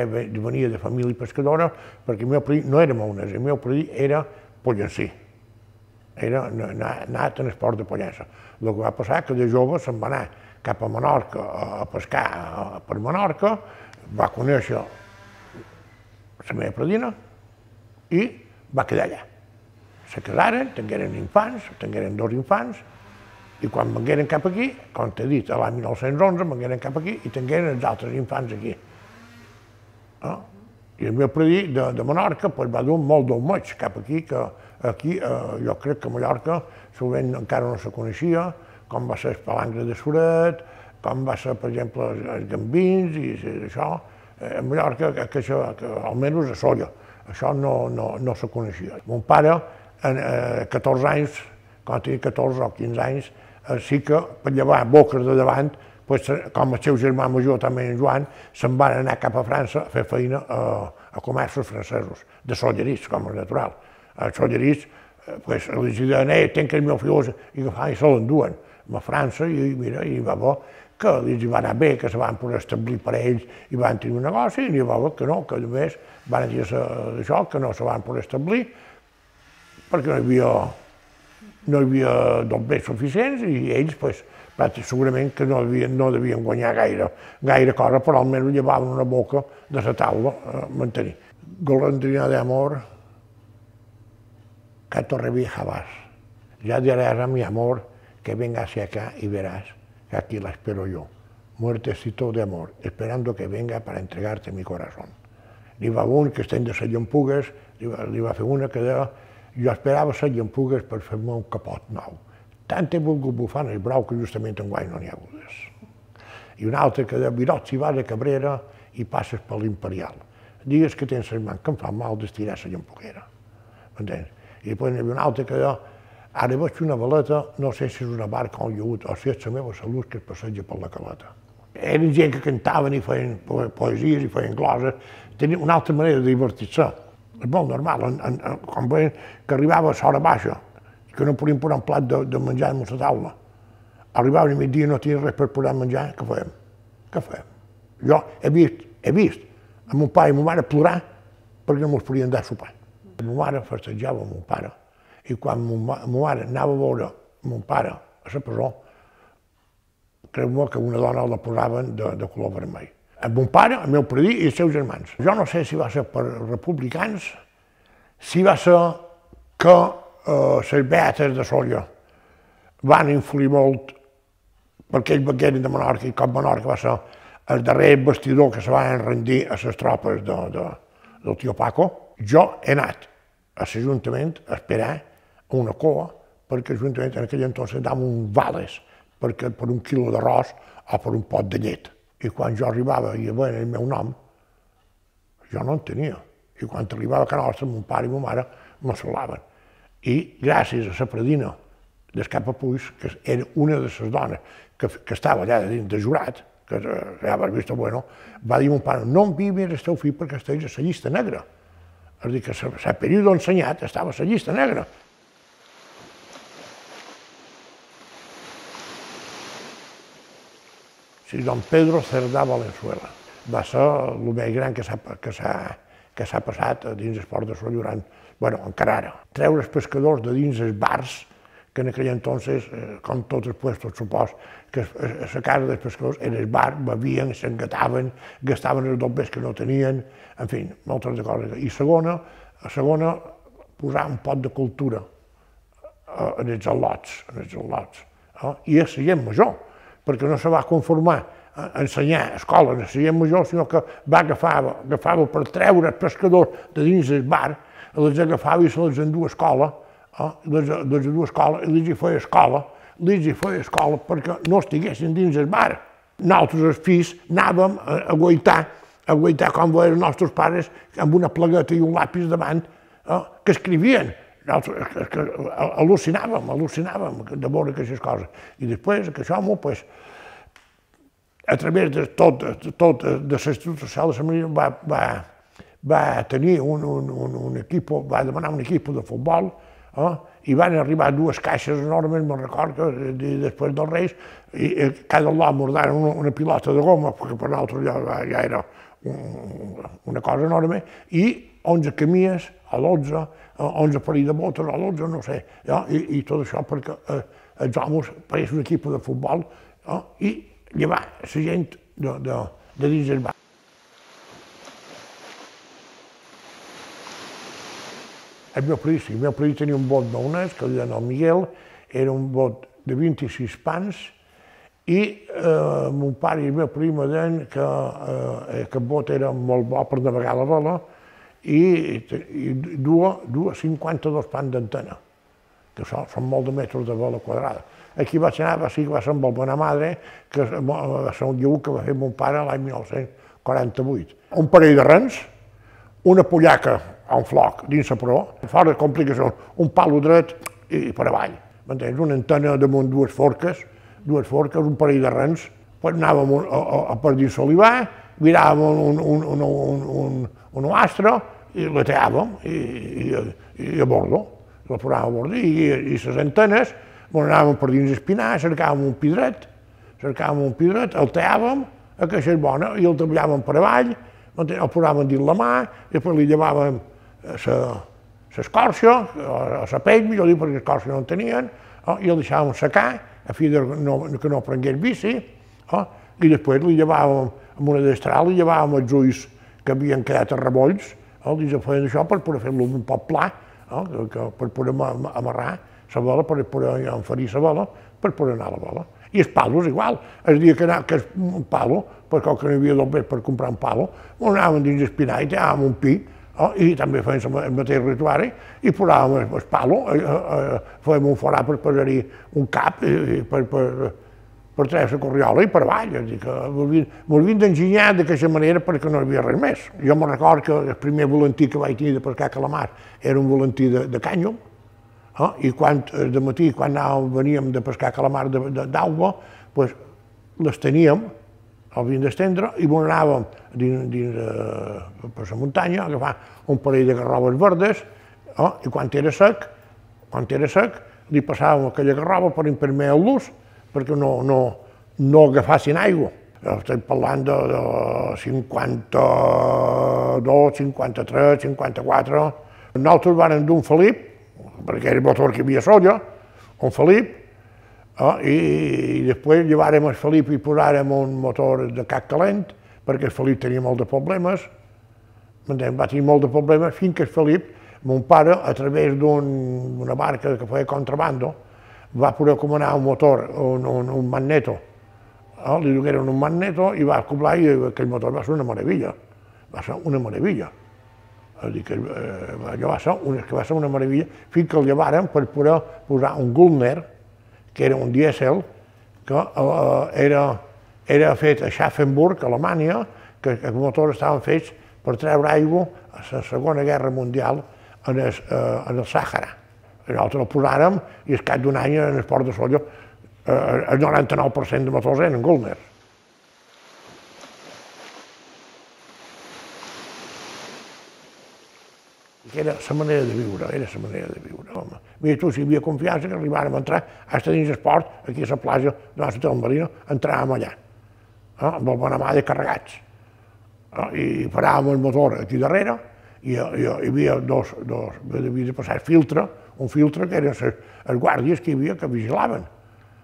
venia de família pescadora, perquè el meu predí no era maonès, el meu predí era pollencí. Era anat en esport de pollença. El que va passar que de jove se'n va anar cap a Menorca a pescar per Menorca, va conèixer la meva predina i va quedar allà. Se casaren, tingueren infants, tingueren 2 infants, i quan vengueren cap aquí, com t'he dit, l'any 1911, vengueren cap aquí i tingueren els altres infants aquí. I el meu predí de Menorca va dur molt d'un maig cap aquí, que aquí jo crec que a Mallorca sovint encara no se coneixia, com va ser el palangre de Suret, com va ser, per exemple, els gambins i això. A Mallorca, almenys a Solla, això no se coneixia. Mon pare, a 14 anys, quan tenia 14 o 15 anys, sí que per llevar boques de davant, com el seu germà major també en Joan, se'n van anar cap a França a fer feina a comerços francesos, de sollerís, com és natural. Els sollerís, els deien, tenc els meus fills, i se l'enduen a França, i mira, hi va veure que els va anar bé, que se van poder establir per ells i van tenir un negoci, i hi va veure que no, que només van dir això, que no se van poder establir, perquè no hi havia doblers suficients i ells, segurament que no devien guanyar gaire cosa, però almenys llevaven una boca de la taula a mantenir. Golondrina de amor, que torre vieja vas. Ya dirás a mi amor que venga hacia acá y verás que aquí la espero yo. Muertecito de amor, esperando que venga para entregarte mi corazón. N'hi va un que estem de les llampugues, li va fer una que deia jo esperava les llampugues per fer-me un capot nou. Tant he volgut bufar en el brau que justament enguany no n'hi ha hagut. I un altre que deia, Virot, si vas a Cabrera i passes per l'Imperial, digues que tens les mans que em fan mal d'estirar la llampuguera. M'entens? I després n'hi havia un altre que deia, ara veig una veleta, no sé si és una barca o un llagut, o si és la meva salut que es passeja per la caleta. Eren gent que cantaven i feien poesies i feien gloses, tenien una altra manera de divertir-se. És molt normal, quan veien que arribava a l'hora baixa, que no podien posar un plat de menjar damunt la taula. Arribava a migdia i no tenia res per posar menjar, què fèiem? Què fèiem? Jo he vist a mon pare i ma mare plorar perquè no mos podien dar sopar. Ma mare festejava amb mon pare i quan ma mare anava a veure mon pare a la presó, creu-me que una dona la posaven de color vermell. El mon pare, el meu predí i els seus germans. Jo no sé si va ser per republicans, si va ser que les beates de Solla van influir molt perquè ells vengueren de Menorca i com Menorca va ser el darrer bastidor que se van rendir a les tropes del tio Paco. Jo he anat a l'Ajuntament a esperar una coa perquè l'Ajuntament en aquell entonces dava un vales per un quilo d'arròs o per un pot de llet. I quan jo arribava i veien el meu nom, jo no en tenia. I quan arribava a Can Nostra, mon pare i ma mare me salaven. I gràcies a la predina d'Escapa Puig, que era una de les dones que estava allà dins de jurat, que ja vas vist bueno, va dir mon pare, no enviïs el teu fill perquè estiguis a la llista negra. És a dir, que el període ensenyat estava a la llista negra. Sí, don Pedro Cerdà Valenzuela. Va ser el més gran que s'ha passat dins el port de Solla durant, encara ara. Treure els pescadors de dins els bars, que en aquell entonces, com tots els puestos, supos, que a la casa dels pescadors era el bar, bevien, s'engataven, gastaven els doblers que no tenien, en fi, moltes de coses. I segona, A segona, posar un pot de cultura en els al·lots, i a la gent major, perquè no se va conformar a ensenyar escoles a la gent major, sinó que agafava per treure els pescadors de dins del bar, els agafava i se les endua a escola, i els feia escola perquè no estiguessin dins el bar. Nosaltres, els fills, anàvem a guaitar com veien els nostres pares amb una plagueta i un lapis davant, que escrivien. Al·lucinàvem de veure aquestes coses. I després, aquest home, a través de tot de l'Institut Social de Samaria, va tenir un equip, va demanar un equip de futbol, i van arribar dues caixes enormes, me'n record que després dels Reis, i cada lot mordaren una pilota de goma, perquè per nosaltres ja era una cosa enorme, i 11 camies, a l'11, 11 parell de botes, a l'11, no sé, i tot això perquè els homes pareix un equip de futbol, i llevar la gent de dins el bar. El meu país tenia un bot maonès, que el deien el Miguel, era un bot de 26 pans, i mon pare i el meu país me deien que aquest bot era molt bo per navegar la vela i duia 52 pans d'antena, que són molt de metres de vela quadrada. Aquí vaig anar, sí que va ser amb el Bonamadre, que va ser un lleu que va fer mon pare l'any 1948. Un parell de rens, una pollaca a un floc dins la proa, fora de complicacions, un palo dret i per avall. M'entens? Una antena damunt dues forques, un parell de rens, anàvem per dins l'olivar, miràvem un astre i la teàvem i a bordo, la posàvem a bordo, i les antenes anàvem per dins espinar, cercàvem un pidret, el teàvem, aquesta és bona, i el treballàvem per avall, el posàvem dins la mà, i després li llevàvem l'escorça, o la pell, millor dir, perquè l'escorça no en tenien, i el deixàvem secar, a fi que no prengués vici, i després li llevàvem, amb una destral, li llevàvem els ulls que havien quedat a rebolls, i se feien això per poder fer-lo un poc pla, per poder amarrar la vela, per poder enferir la vela, per poder anar a la vela. I els palos igual. El dia que un palo, perquè no hi havia d'obres per comprar un palo, anàvem dins espinar i tèiem un pi, i també fèiem el mateix ritual, i posàvem el palo, fèiem un forat per posar-hi un cap, per treure la corriola i per avall. És a dir, que m'ho havien d'enginyar d'aquesta manera perquè no hi havia res més. Jo me'n record que el primer volantí que vaig tenir de pescar calamar era un volantí de cànyol, i de matí, quan veníem de pescar calamar d'aigua, les teníem, el havíem d'estendre, i anàvem per la muntanya a agafar un parell de garrobes verdes, i quan era sec, li passàvem aquella garroba per impermear-los perquè no agafassin aigua. Estem parlant de 52, 53, 54. Nosaltres vàrem dur un Felip, perquè era el motor que hi havia solla, un Felip, i després llevàrem el Felip i posàrem un motor de cap calent, perquè el Felip tenia molt de problemes, va tenir molt de problemes, fins que el Felip, mon pare, a través d'una barca que feia contrabando, va poder comanar un motor, un magneto, li dugueren un magneto i va acoblar i aquell motor va ser una meravella, És a dir, que allò va ser una meravella, fins que el llevàrem per poder posar un Gullner, que era un dièsel, que era fet a Schaffenburg, a Alemanya, que els motors estaven fets per treure aigua a la Segona Guerra Mundial en el Sàhara. Nosaltres el posàrem i al cap d'un any en el port de Sóller el 99% de motors eren Gullner. Era la manera de viure, home. Mira tu, si hi havia confiança, que arribàrem a entrar, fins dins el port, aquí a la platja de la ciutat marina, entràvem allà, amb el Bonamadre carregats. I paràvem el motor aquí darrere, i hi havia havia de passar un filtre que eren els guàrdies que hi havia que vigilaven.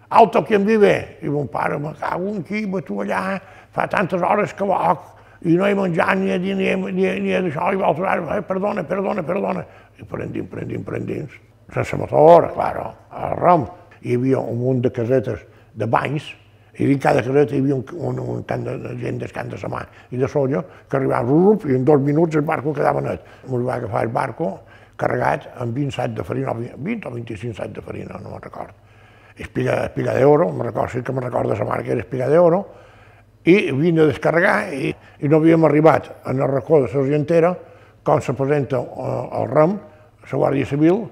Alto, qui en vive? I mon pare, me cago en qui, tu allà, fa tantes hores que loc, i no he menjat ni d'això, i l'altre, perdona, i prendins, sense motor, clar, al ram. Hi havia un munt de casetes de banys, i dins cada caseta hi havia un tant de gent del Camp de Samà i de Solla que arribaven, i en 2 minuts el barco quedava net. Ens va agafar el barco carregat amb 20 sacs de farina, 20 o 25 sacs de farina, no me'n recordo. Espiga d'oro, sí que me'n recordo de la marca, era Espiga d'oro, i vine a descarregar i no havíem arribat en el racó de l'Argentera quan se presenta el REM, la Guàrdia Civil,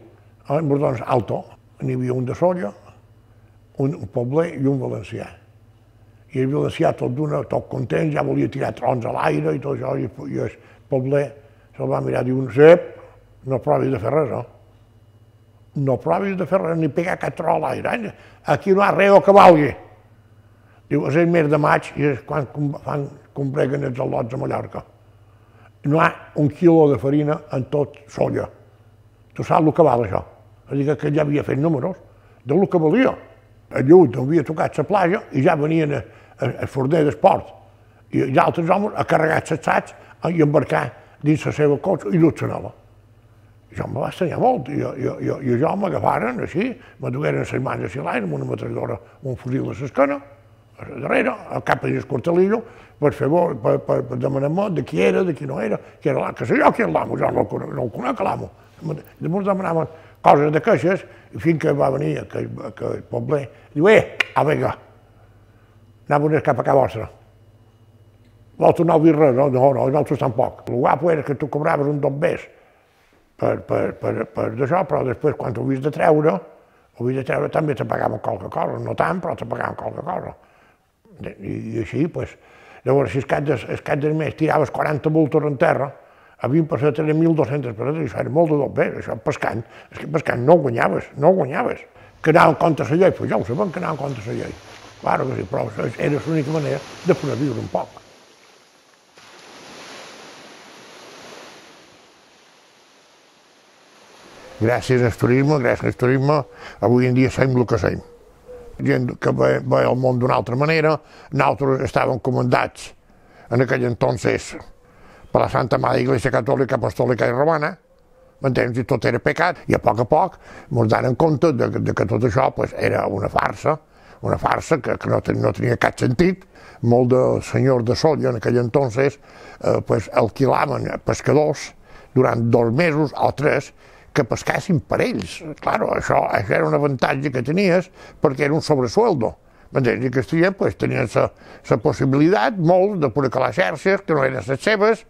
en Bordons Alto. N'hi havia un de Solla, un pobler i un valencià. I el valencià tot content, ja volia tirar trons a l'aire i tot això, i el pobler se'l va mirar i diu, Sep, no provis de fer res, no? No provis de fer res, ni pegar cap tro a l'aire. Aquí no hi ha res que valgui. Diu, és el mes de maig i és quan combreguen els al·lots a Mallorca. No hi ha 1 quilo de farina en tot Solla. Tu saps el que val això? És a dir, que ja havia fet números del que valia. El Llut havia tocat la platja i ja venien el forner d'esport i els altres homes a carregar els sacs i embarcar dins la seva cotxe i dur-se nova. Jo em va estranyar molt i jo m'agafaren així, me dugueren les mans a l'aire amb una metralladora, un fusil a l'esquena, a darrere, al cap del cortelillo, per demanar-me de qui era, de qui no era, que sé jo qui és l'amo, jo no el conec l'amo. Llavors demanaven coses de queixes i fins que va venir el pobler, diu, vinga, anaven cap a casa vostra. Vols tornar a dir res? No, nosaltres tampoc. El guapo era que tu cobraves un dobbers per d'això, però després quan ho havies de treure també te pagaven qualque cosa, no tant, però te pagaven qualque cosa. I així, doncs, llavors, si el cap del mes tiraves 40 bultos en terra, a 20 pessetes eren 1.200 pessetes, i això era molt de dobbers, això pescant. És que pescant no guanyaves. Que anaven contra la llei, doncs ja ho sabem que anaven contra la llei. Clar que sí, però era l'única manera de poder viure un poc. Gràcies al turisme, avui en dia som el que som. Gent que ve al món d'una altra manera, nosaltres estàvem comandats en aquell entonces per la Santa Mare Iglesia Catòlica, Apostòlica i Romana, m'entens? I tot era pecat, i a poc ens donen compte que tot això era una farsa que no tenia cap sentit. Molts de senyors de Solla en aquell entonces alquilaven pescadors durant 2 mesos o 3 que pescassin per ells. Clar, això era un avantatge que tenies perquè era un sobresueldo. M'entens? I aquests tenien la possibilitat, molts, de poder calar xarxes que no eren les seves,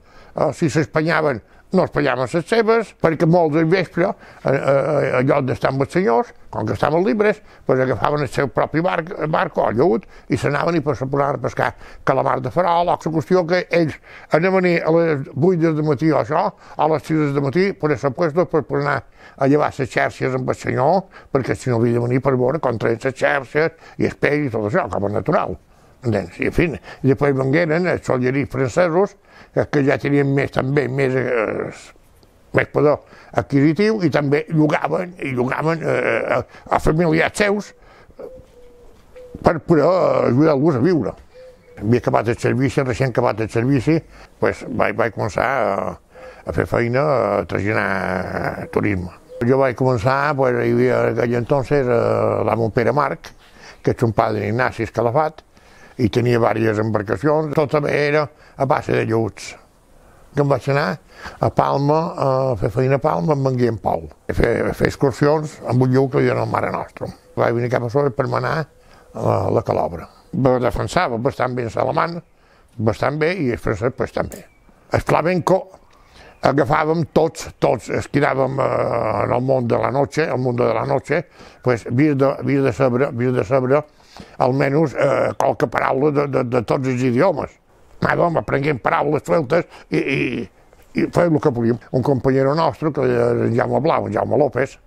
si s'espanyaven no espanyaven les seves, perquè molts al vespre, en lloc d'estar amb els senyors, com que estaven llibres, agafaven el seu propi barco o lleut i s'anaven i se posaven a pescar calamar de farol, o la qüestió que ells anaven a les 8 del matí o això, a les 6 del matí, per a puestos per anar a llevar les xarxes amb el senyor, perquè el senyor havia de venir per veure com treien les xarxes i el peix i tot això, com a natural. I en fi, després vengueren els solleris francesos, que ja tenien més poder adquisitiu i també llogaven a familiars seus per poder ajudar-los a viure. Havia acabat el servici, recent acabat el servici, vaig començar a fer feina a traginar turisme. Jo vaig començar, hi havia en aquell entonces l'amo Pere Marc, que és un padre Ignasi Escalafat, i tenia diverses embarcacions, tot era a base de lleuts. Que em vaig anar a Palma, a fer feina a Palma amb en Guillem Pol, a fer excursions amb un lleut que li deien el Mare Nostrum. Vaig venir cap a sobre per anar a la Calobra. Defensava bastant bé l'alemany, bastant bé, i el francès també. El flamenco agafàvem tots, es quedàvem en el món de la noche, havies de saber almenys qualque paraula de tots els idiomes. Anàvem aprenent paraules sueltes i fèiem el que podíem. Un companyero nostre, que era en Jaume Blau, en Jaume López,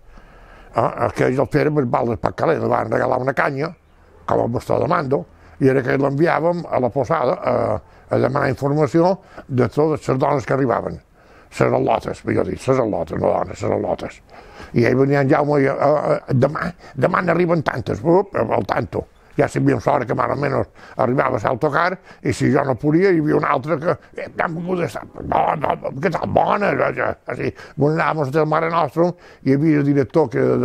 que ells el feren per Val d'Espacalé, li van regalar una canya, com a bastó de mando, i era que l'enviàvem a la posada a demanar informació de totes les dones que arribaven. Les al·lotes, millor dit, les al·lotes, no dones, les al·lotes. I ell venia en Jaume i demà n'arriben tantes, al tanto. ja sabíem l'hora que més o menys arribava l'autocar, i si jo no podia, hi havia un altre que, han vingut a estar, que tal bona, així, anàvem del Mare Nostrum, hi havia el director que era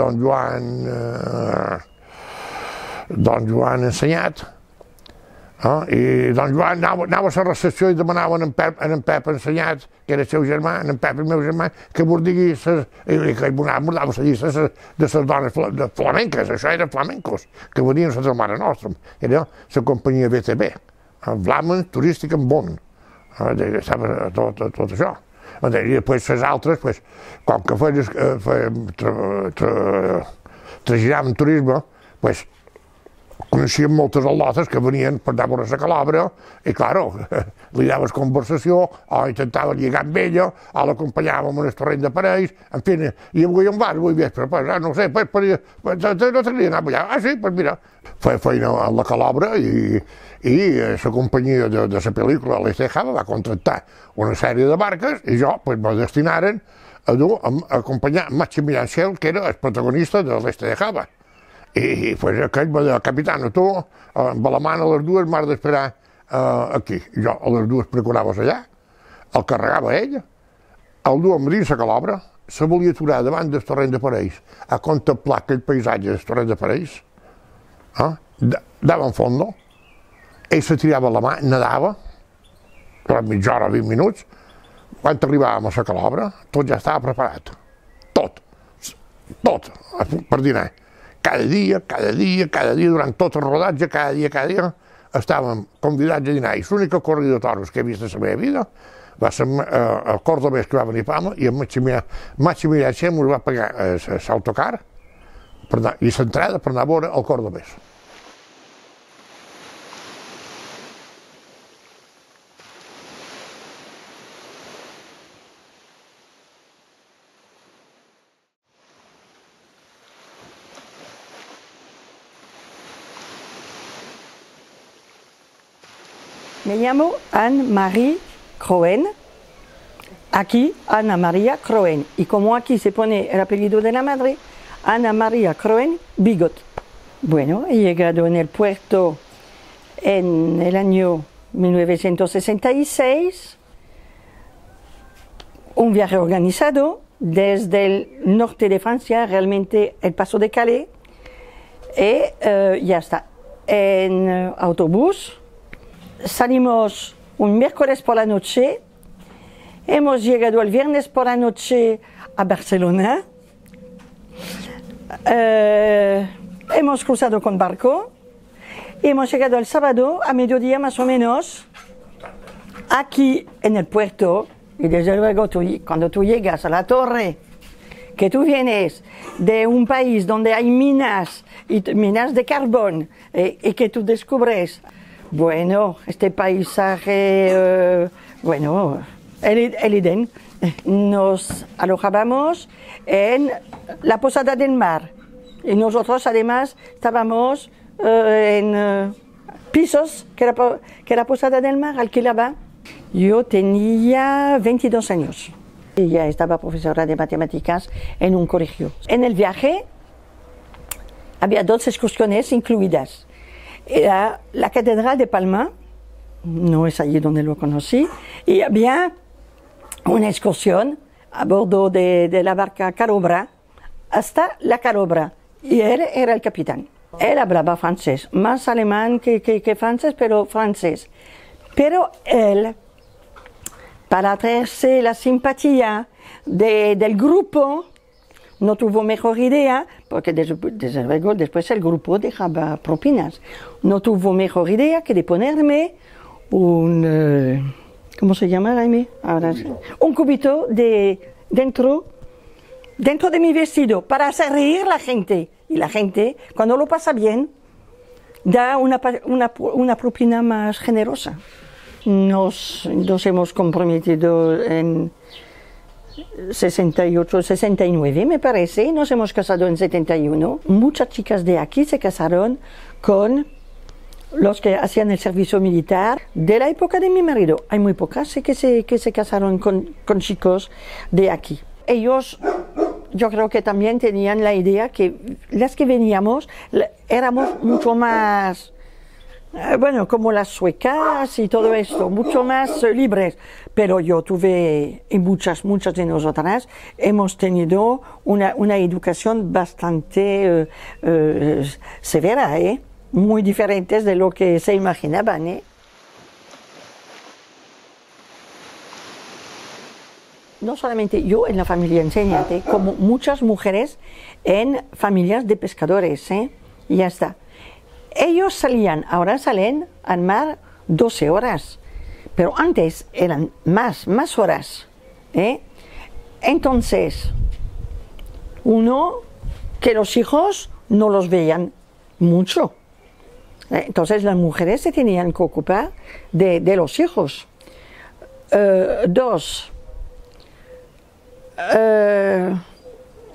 don Joan Ensenyat, i don Joan anava a la recepció i demanava en Pep Ensenyat, que era el seu germà, en Pep, el meu germà, que bordigui que mordava la llista de les dones flamenques, això eren flamencos, que venien a del Mare Nostrum, era la companyia BTB, Vlamen Turística en Bon, estava tot això. I després les altres, com que traginaven turisme, coneixíem moltes al·lotes que venien per anar a veure la Calabra i, clar, li daves conversació o intentaven lligar amb ella o l'acompanyàvem en el terreny de parells, en fi, i avui on vas, avui vespre, no sé, no t'agradaria anar allà? Ah, sí, doncs mira, feia feina a la Calabra i la companyia de la pel·lícula l'Este Java va contractar una sèrie de barques i jo me destinaren a acompanyar Maximilian Schell, que era el protagonista de l'Este de Java. I aquell va dir, capitana, tu amb la mà a les dues m'has d'esperar aquí. Jo a les dues procurava allà, el carregava ell, el duia a Madrid a Calabra, se volia aturar davant del terreny de parells a contemplar aquell paisatge del terreny de parells, dava en fondo, ell se tirava la mà, nedava, durant mitja hora, 20 minuts, quan arribàvem a la Calabra, tot ja estava preparat, tot, per dinar. Cada dia, durant tot el rodatge, cada dia, estàvem convidats a dinar. I l'única corrida de toros que he vist a la meva vida va ser el cordobès que va venir a Palma i el Maximilià Xem us va pagar l'autocar i l'entrada per anar a veure el cordobès. Me llamo Anne-Marie Croen, aquí Ana María Croen, y como aquí se pone el apellido de la madre, Ana María Croen Bigot. Bueno, he llegado en el puerto en el año 1966, un viaje organizado desde el norte de Francia, realmente el Paso de Calais, y ya está, en autobús. Salimos un miércoles por la noche, hemos llegado el viernes por la noche a Barcelona, hemos cruzado con barco, hemos llegado el sábado a mediodía más o menos, aquí en el puerto, y desde luego cuando tú llegas a la torre, que tú vienes de un país donde hay minas de carbón, y que tú descubres, bueno, este paisaje, bueno, el Edén. Nos alojábamos en la Posada del Mar y nosotros además estábamos en pisos que la Posada del Mar alquilaba. Yo tenía 22 años y ya estaba profesora de matemáticas en un colegio. En el viaje había 2 excursiones incluidas. Era la Catedral de Palma, no es allí donde lo conocí, y había una excursión a bordo de la barca Calobra hasta la Calobra, y él era el capitán. Él hablaba francés, más alemán que francés, pero francés. Pero él, para atraerse la simpatía del grupo, no tuvo mejor idea, porque desde luego después el grupo dejaba propinas, no tuvo mejor idea que de ponerme un, ¿cómo se llama, Jaime? Ahora, un cubito dentro de mi vestido para hacer reír a la gente. Y la gente, cuando lo pasa bien, da una propina más generosa. Nos hemos comprometido en 68, 69 me parece, nos hemos casado en 71. Muchas chicas de aquí se casaron con los que hacían el servicio militar de la época de mi marido. Hay muy pocas que se casaron con chicos de aquí. Ellos yo creo que también tenían la idea que las que veníamos éramos mucho más, bueno, como las suecas y todo esto, mucho más libres. Pero yo tuve, y muchas de nosotras, hemos tenido una educación bastante severa, muy diferentes de lo que se imaginaban. No solamente yo en la familia enseñante, como muchas mujeres en familias de pescadores, y ya está. Ellos salían, ahora salen al mar 12 horas, pero antes eran más horas. Entonces, uno, que los hijos no los veían mucho. Entonces las mujeres se tenían que ocupar de los hijos. Dos,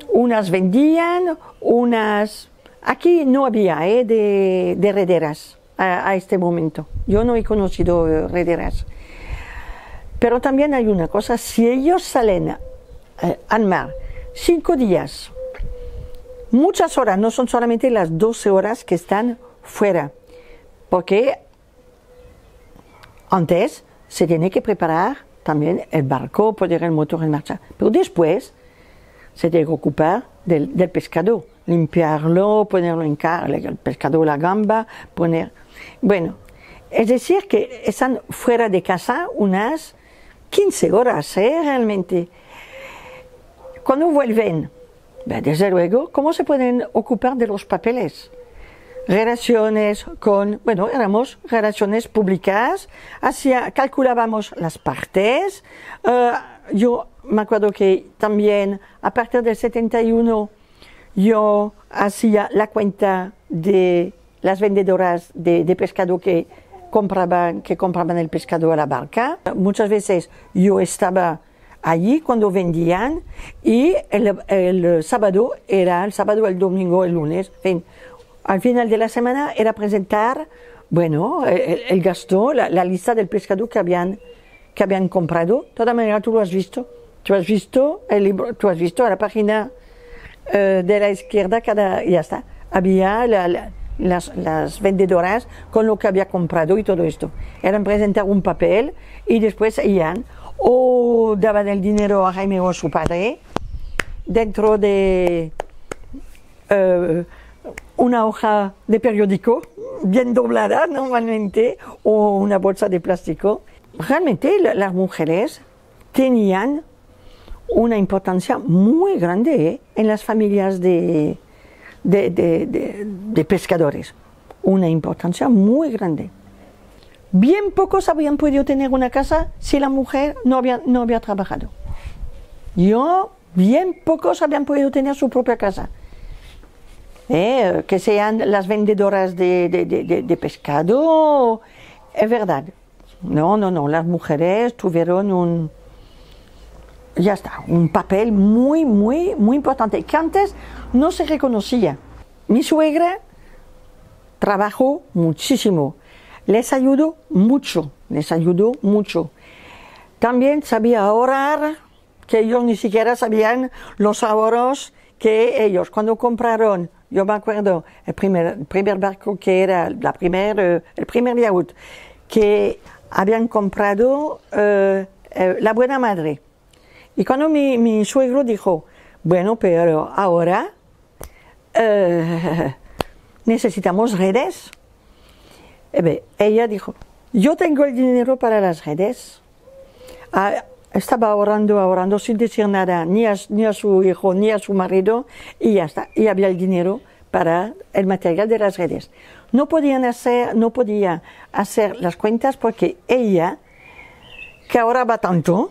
unas vendían, unas... Aquí no había de rederas a este momento. Yo no he conocido rederas. Pero también hay una cosa, si ellos salen al mar 5 días, muchas horas, no son solamente las 12 horas que están fuera, porque antes se tiene que preparar también el barco, poner el motor en marcha, pero después se tiene que ocupar del pescado, limpiarlo, ponerlo en el pescado, la gamba, bueno, es decir que están fuera de casa unas 15 horas, realmente. Cuando vuelven, desde luego, ¿cómo se pueden ocupar de los papeles? Relaciones éramos relaciones públicas, calculábamos las partes. Yo me acuerdo que también a partir del 71 yo hacía la cuenta de las vendedoras de pescado que compraban el pescado a la barca. Muchas veces yo estaba allí cuando vendían y el sábado, el domingo, el lunes, en fin, al final de la semana era presentar, el gasto, la lista del pescado que habían comprado. De todas maneras, tú lo has visto. Tú has visto el libro, tú has visto a la página de la izquierda, ya está. Había las vendedoras con lo que había comprado y todo esto. Eran presentar un papel y después iban o daban el dinero a Jaime o a su padre dentro de una hoja de periódico bien doblada normalmente o una bolsa de plástico. Realmente las mujeres tenían una importancia muy grande en las familias de pescadores, una importancia muy grande. Bien pocos habían podido tener una casa si la mujer no había trabajado. Bien pocos habían podido tener su propia casa. Que sean las vendedoras de pescado, es verdad. No, las mujeres tuvieron un papel muy importante, que antes no se reconocía. Mi suegra trabajó muchísimo, les ayudó mucho. También sabía ahorrar, que ellos ni siquiera sabían los ahorros que ellos, cuando compraron, yo me acuerdo, el primer barco que era, el primer yacht, que habían comprado la Buena Madre. Y cuando mi suegro dijo, pero ahora necesitamos redes, ella dijo, yo tengo el dinero para las redes. Estaba ahorrando sin decir nada, ni a su hijo, ni a su marido, y ya está. Y había el dinero para el material de las redes. No podía hacer las cuentas porque ella, que ahorraba tanto,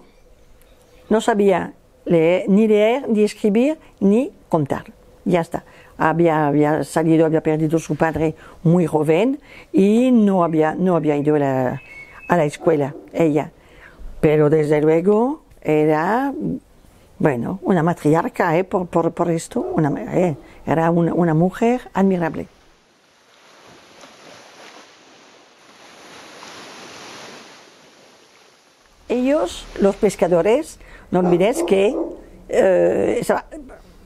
no sabía ni leer, ni escribir, ni contar. Ya está. Había perdido a su padre muy joven y no había ido a la escuela, ella. Pero desde luego era, una matriarca, por esto, era una mujer admirable. Ellos, los pescadores, no olvides que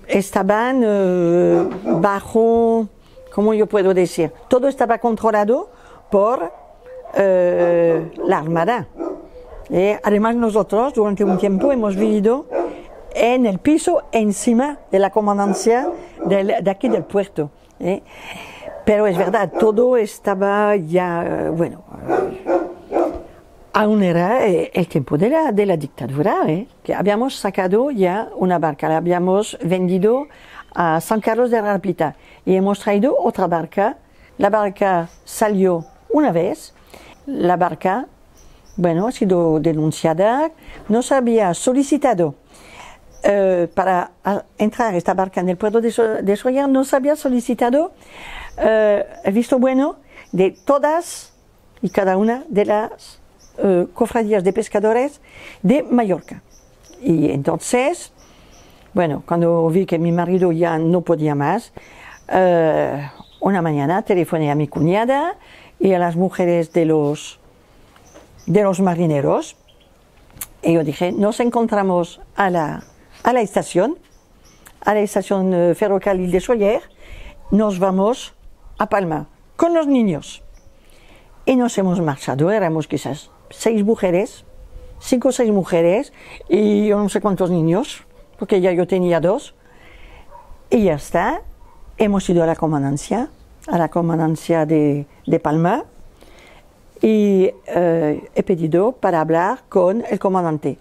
estaban bajo, ¿cómo yo puedo decir? Todo estaba controlado por la Armada. Además nosotros durante un tiempo hemos vivido en el piso encima de la comandancia de aquí del puerto. Pero es verdad, todo estaba ya, bueno, aún era el tiempo de la dictadura, que habíamos sacado ya una barca, la habíamos vendido a San Carlos de Rapita y hemos traído otra barca. La barca salió una vez, la barca, bueno, ha sido denunciada, nos había solicitado para entrar esta barca en el puerto de Sóller, nos había solicitado el visto bueno de todas y cada una de las cofradías de pescadores de Mallorca. Y entonces, bueno, cuando vi que mi marido ya no podía más, una mañana telefoné a mi cuñada y a las mujeres de los marineros y yo dije, nos encontramos a la estación ferrocarril de Sóller, nos vamos a Palma con los niños. Y nos hemos marchado, éramos quizás 5 o 6 mujeres y yo no sé cuántos niños, porque ya yo tenía 2. Y ya está, hemos ido a la comandancia de Palma y he pedido para hablar con el comandante.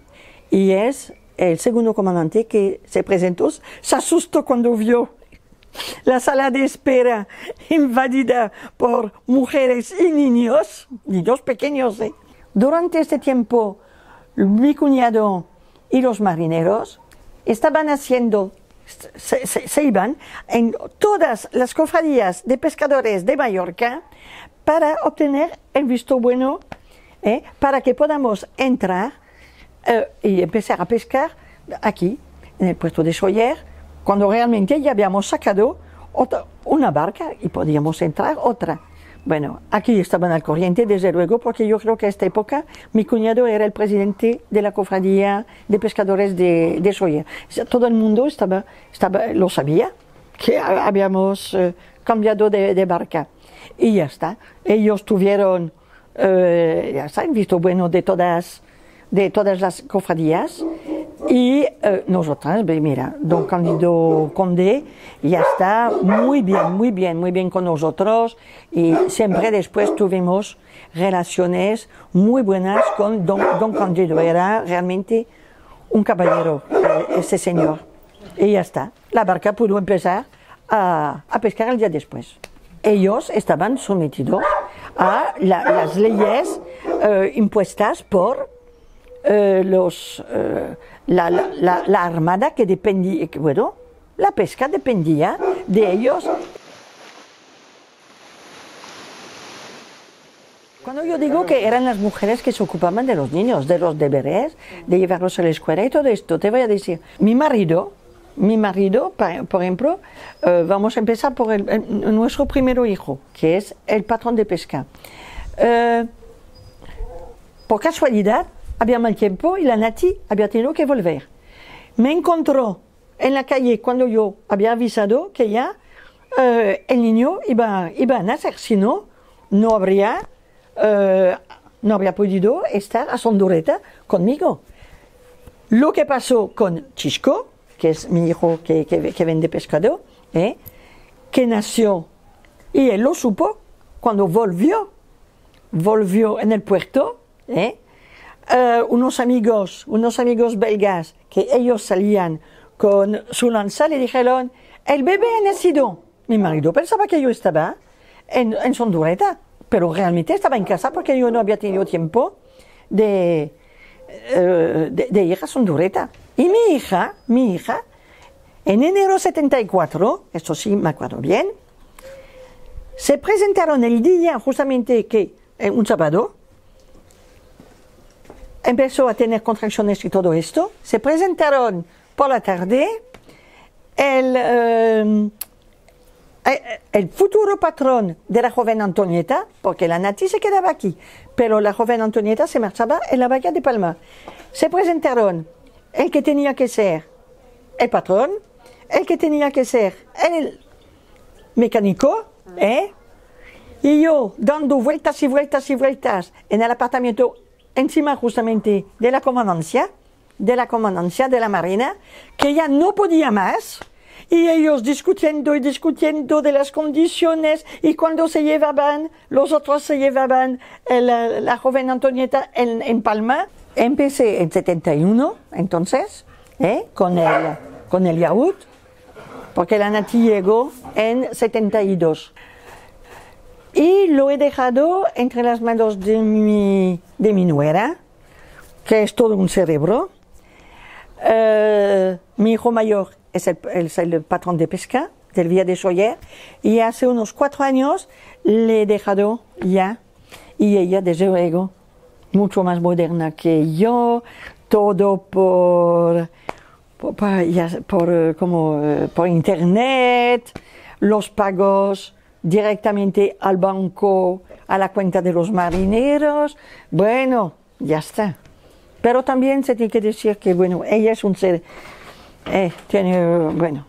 Y es el segundo comandante que se presentó, se asustó cuando vio la sala de espera invadida por mujeres y niños pequeños. Durante este tiempo, mi cuñado y los marineros estaban haciendo, se iban en todas las cofradías de pescadores de Mallorca para obtener el visto bueno, para que podamos entrar y empezar a pescar aquí, en el puerto de Sóller, cuando realmente ya habíamos sacado una barca y podíamos entrar otra. Bueno, aquí estaban al corriente, desde luego, porque yo creo que a esta época mi cuñado era el presidente de la cofradía de pescadores de Sóller. Todo el mundo lo sabía, que habíamos cambiado de barca. Y ya está. Ellos tuvieron ya está, el visto bueno de todas las cofradías. Y nosotras, mira, don Cándido Conde ya está muy bien con nosotros y siempre después tuvimos relaciones muy buenas con don Cándido. Era realmente un caballero, ese señor. Y ya está, la barca pudo empezar a pescar el día después. Ellos estaban sometidos a las leyes impuestas por la Armada, que dependía, bueno, la pesca dependía de ellos. Cuando yo digo que eran las mujeres que se ocupaban de los niños, de los deberes, de llevarlos a la escuela y todo esto, te voy a decir, mi marido, por ejemplo, vamos a empezar por nuestro primer hijo, que es el patrón de pesca. Por casualidad, había mal tiempo y la Nati había tenido que volver. Me encontró en la calle cuando yo había avisado que ya el niño iba a nacer, si no, no habría podido estar a Sondureta conmigo. Lo que pasó con Chisco, que es mi hijo que vende pescado, que nació y él lo supo cuando volvió en el puerto, unos amigos belgas que ellos salían con su lanza le dijeron, el bebé ha nacido. Mi marido pensaba que yo estaba en Sondureta, pero realmente estaba en casa porque yo no había tenido tiempo de ir a Sondureta. Y mi hija, en enero 74, esto sí me acuerdo bien, se presentaron el día justamente que, un sábado, empezó a tener contracciones y todo esto, se presentaron por la tarde el futuro patrón de la joven Antonieta, porque la Nati se quedaba aquí, pero la joven Antonieta se marchaba en la bahía de Palma. Se presentaron el que tenía que ser el patrón, el que tenía que ser el mecánico, y yo dando vueltas y vueltas y vueltas en el apartamento encima justamente de la comandancia de la Marina, que ya no podía más, y ellos discutiendo y discutiendo de las condiciones, y cuando se llevaban, los otros se llevaban la joven Antonieta en Palma. Empecé en 71, entonces, con el yacht, porque la Nati llegó en 72. Y lo he dejado entre las manos de mi nuera, que es todo un cerebro. Mi hijo mayor es el patrón de pesca del Villa de Sóller, y hace unos 4 años le he dejado ya, y ella, desde luego, mucho más moderna que yo, todo por internet, los pagos directamente al banco, a la cuenta de los marineros. Bueno, ya está. Pero también se tiene que decir que, bueno, ella es un ser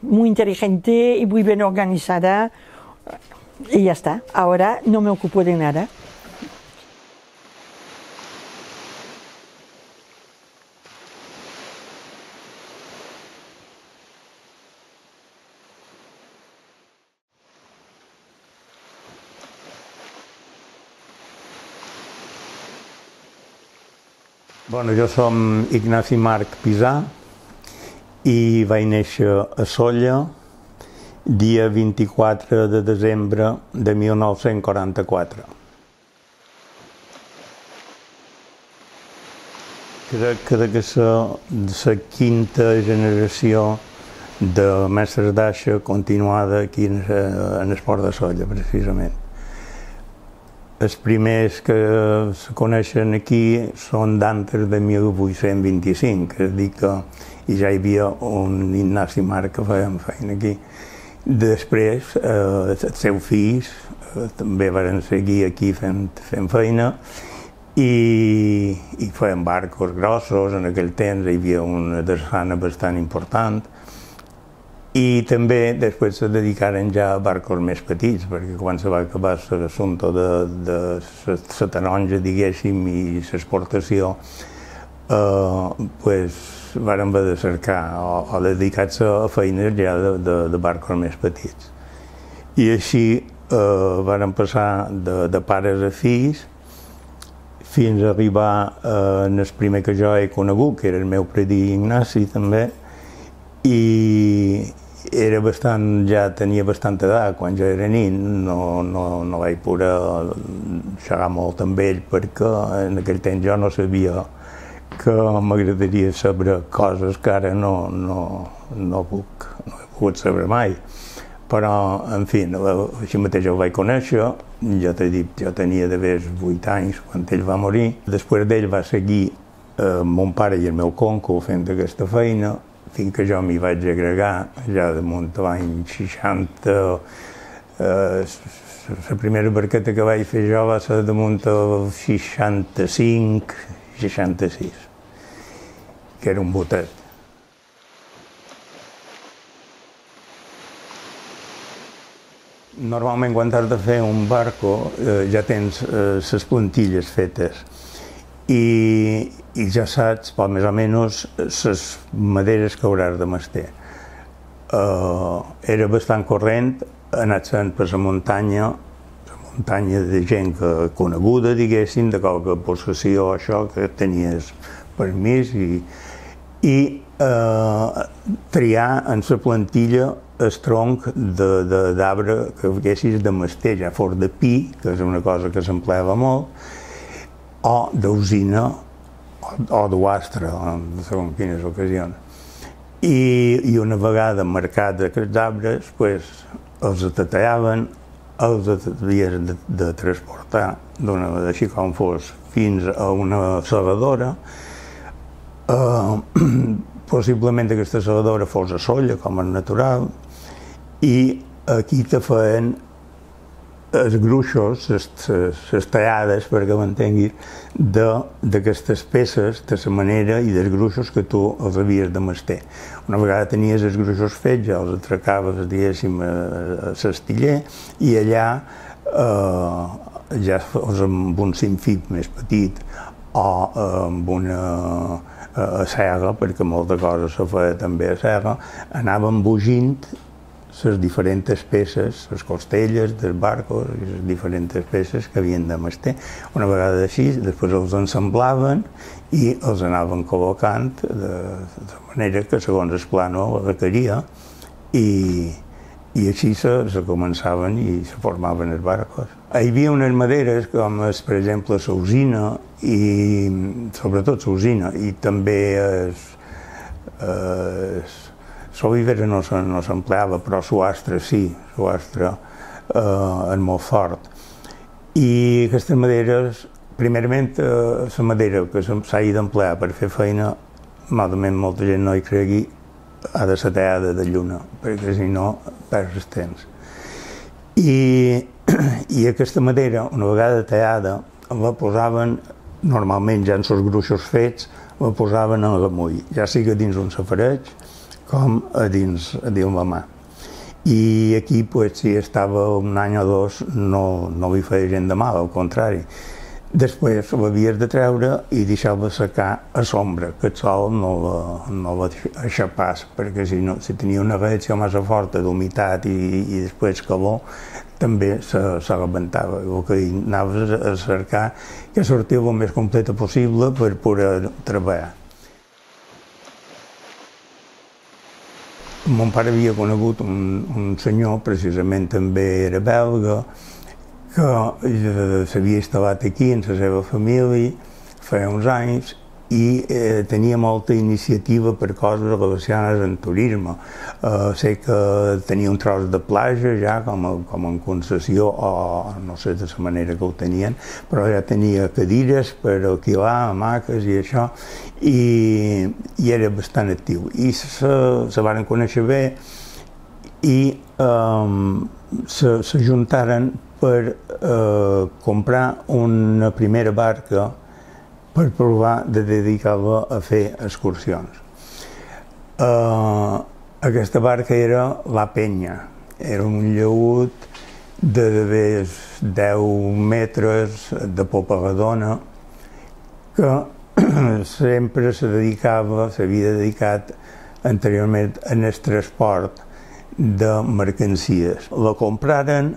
muy inteligente y muy bien organizada, y ya está. Ahora no me ocupo de nada. Bueno, jo som Ignasi Marc Pisà i vaig néixer a Sóller dia 24 de desembre de 1944. Crec que la quinta generació de mestres d'aixa continuada aquí en el port de Sóller, precisament. Els primers que se coneixen aquí són d'antes de 1825, és a dir que ja hi havia un Ignasi Marc que feia feina aquí. Després, els seus fills també van seguir aquí fent feina i feien barcos grossos. En aquell temps hi havia una drassana bastant important. I també després se dedicaren ja a barcos més petits, perquè quan se va acabar l'assumpte de la taronja, diguéssim, i l'exportació, varen haver de cercar o dedicar-se a feines ja de barcos més petits. I així varen passar de pares a fills fins a arribar en el primer que jo he conegut, que era el meu predí Ignasi també, i ja tenia bastanta edat quan jo era nin. No vaig poder xerrar molt amb ell perquè en aquell temps jo no sabia que m'agradaria saber coses que ara no he pogut saber mai. Però, en fi, així mateix el vaig conèixer. Jo t'he dit, jo tenia d'haver 8 anys quan ell va morir. Després d'ell va seguir mon pare i el meu conco fent aquesta feina, fins que jo m'hi vaig agregar ja damunt l'any 60. La primera barqueta que vaig fer jo va ser damunt el 65, 66, que era un botet. Normalment quan has de fer un barco ja tens les plantilles fetes i ja saps, més o menys, les maderes que hauràs de mestir. Era bastant corrent anar sent per la muntanya de gent coneguda, diguéssim, de qualque possessió, això, que tenies permís, i triar en la plantilla el tronc d'arbre que haguessis de mestir, ja fos de pi, que és una cosa que s'empleava molt, o d'usina, o d'uastre, segons quines ocasions. I una vegada marcats aquests arbres, els tatallaven, els havies de transportar, així com fos, fins a una segadora. Possiblement aquesta segadora fos a Sóller, com és natural, i aquí te feien els gruixos, les tallades, perquè m'entenguis, d'aquestes peces, de la manera i dels gruixos que tu els havies de mestir. Una vegada tenies els gruixos fets, ja els atracaves, diguéssim, a l'astiller, i allà ja fos amb un cinfip més petit o amb una sega, perquè molta cosa se feia també a sega, anàvem bugint les diferents peces, les costelles dels barcos i les diferents peces que havien de mestir. Una vegada així, després els ensamblaven i els anaven col·locant de manera que segons el plano requeria i així se començaven i se formaven els barcos. Hi havia unes maderes com, per exemple, la usina i sobretot la usina i també l'olivera no s'empleava, però l'astre sí, l'astre és molt fort. I aquestes maderes, primerament, la madera que s'hagi d'emplear per fer feina, malament molta gent no hi cregui, ha de ser tallada de lluna, perquè si no perds el temps. I aquesta madera, una vegada tallada, la posaven, normalment ja en els gruixos fets, la posaven en l'amull, ja sigui dins un safareig, com a dins la mà. I aquí, si estava un any o dos, no li feia gent de mal, al contrari. Després l'havies de treure i deixar-la secar a l'ombra, que el sol no la aixapàs, perquè si tenia una reacció massa forta d'humitat i després calor, també se rebentava. El que anaves a cercar que sortia el més completa possible per poder treballar. Mon pare havia conegut un senyor, precisament també era belga, que s'havia instal·lat aquí amb la seva família feia uns anys i tenia molta iniciativa per coses relacionades amb turisme. Sé que tenia un tros de platja ja com en concessió, o no sé de la manera que ho tenien, però ja tenia cadires per alquilar, hamaques i això, i era bastant actiu. I se van conèixer bé i s'ajuntaren per comprar una primera barca per provar de dedicar-la a fer excursions. Aquesta barca era la Penya, era un llaüt de 10 metres de popa redona que sempre s'havia dedicat anteriorment en el transport de mercancies. La compraren,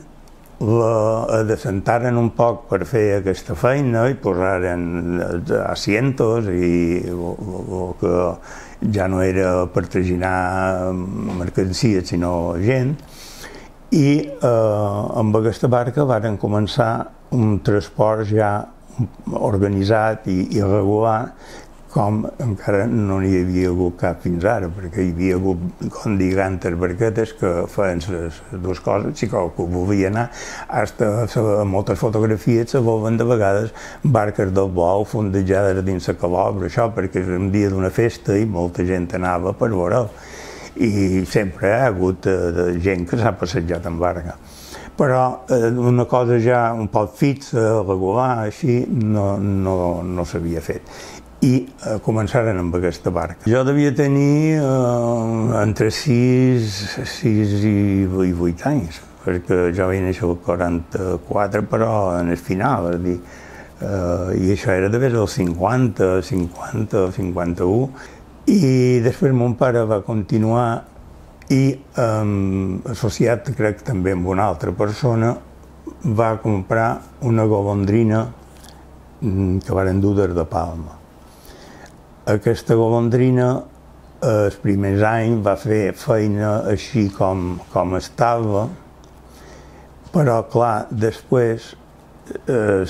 la adecentaren un poc per fer aquesta feina i posaren asientos i el que ja no era per traginar mercancies sinó gent, i amb aquesta barca varen començar un transport ja organitzat i regular, com encara no n'hi havia hagut cap fins ara, perquè hi havia hagut, com diguen, barquetes que feien les dues coses, si qualcú volia anar, a moltes fotografies se veuen de vegades barques del bou fondejades dins la calobra, això perquè és un dia d'una festa i molta gent anava per veure'l. I sempre hi ha hagut gent que s'ha passejat en barca. Però una cosa ja un poc fixa, regular, així, no s'havia fet. I començaren amb aquesta barca. Jo devia tenir entre 6 i 8 anys, perquè jo vaig néixer al 44, però en el final, és dir, i això era d'haver el 50, 51, i després mon pare va continuar i, associat, crec, també amb una altra persona, va comprar una golondrina que varen dur des de Palma. Aquesta golondrina, els primers anys, va fer feina així com estava, però, clar, després,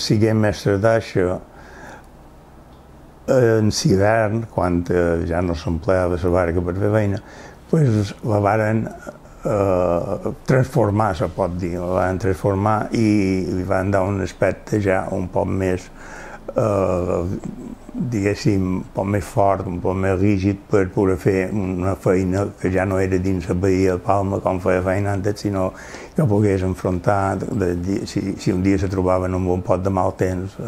siguem mestres d'aixa, en l'hivern, quan ja no s'empleava la barca per fer feina, la varen transformar, se pot dir, la van transformar i li van dar un aspecte ja un poc més diguéssim, un poc més fort, un poc més rígid per poder fer una feina que ja no era dins la Bahia de Palma com feia feina antes, sinó que pogués enfrontar si un dia se trobaven amb un pot de mal temps.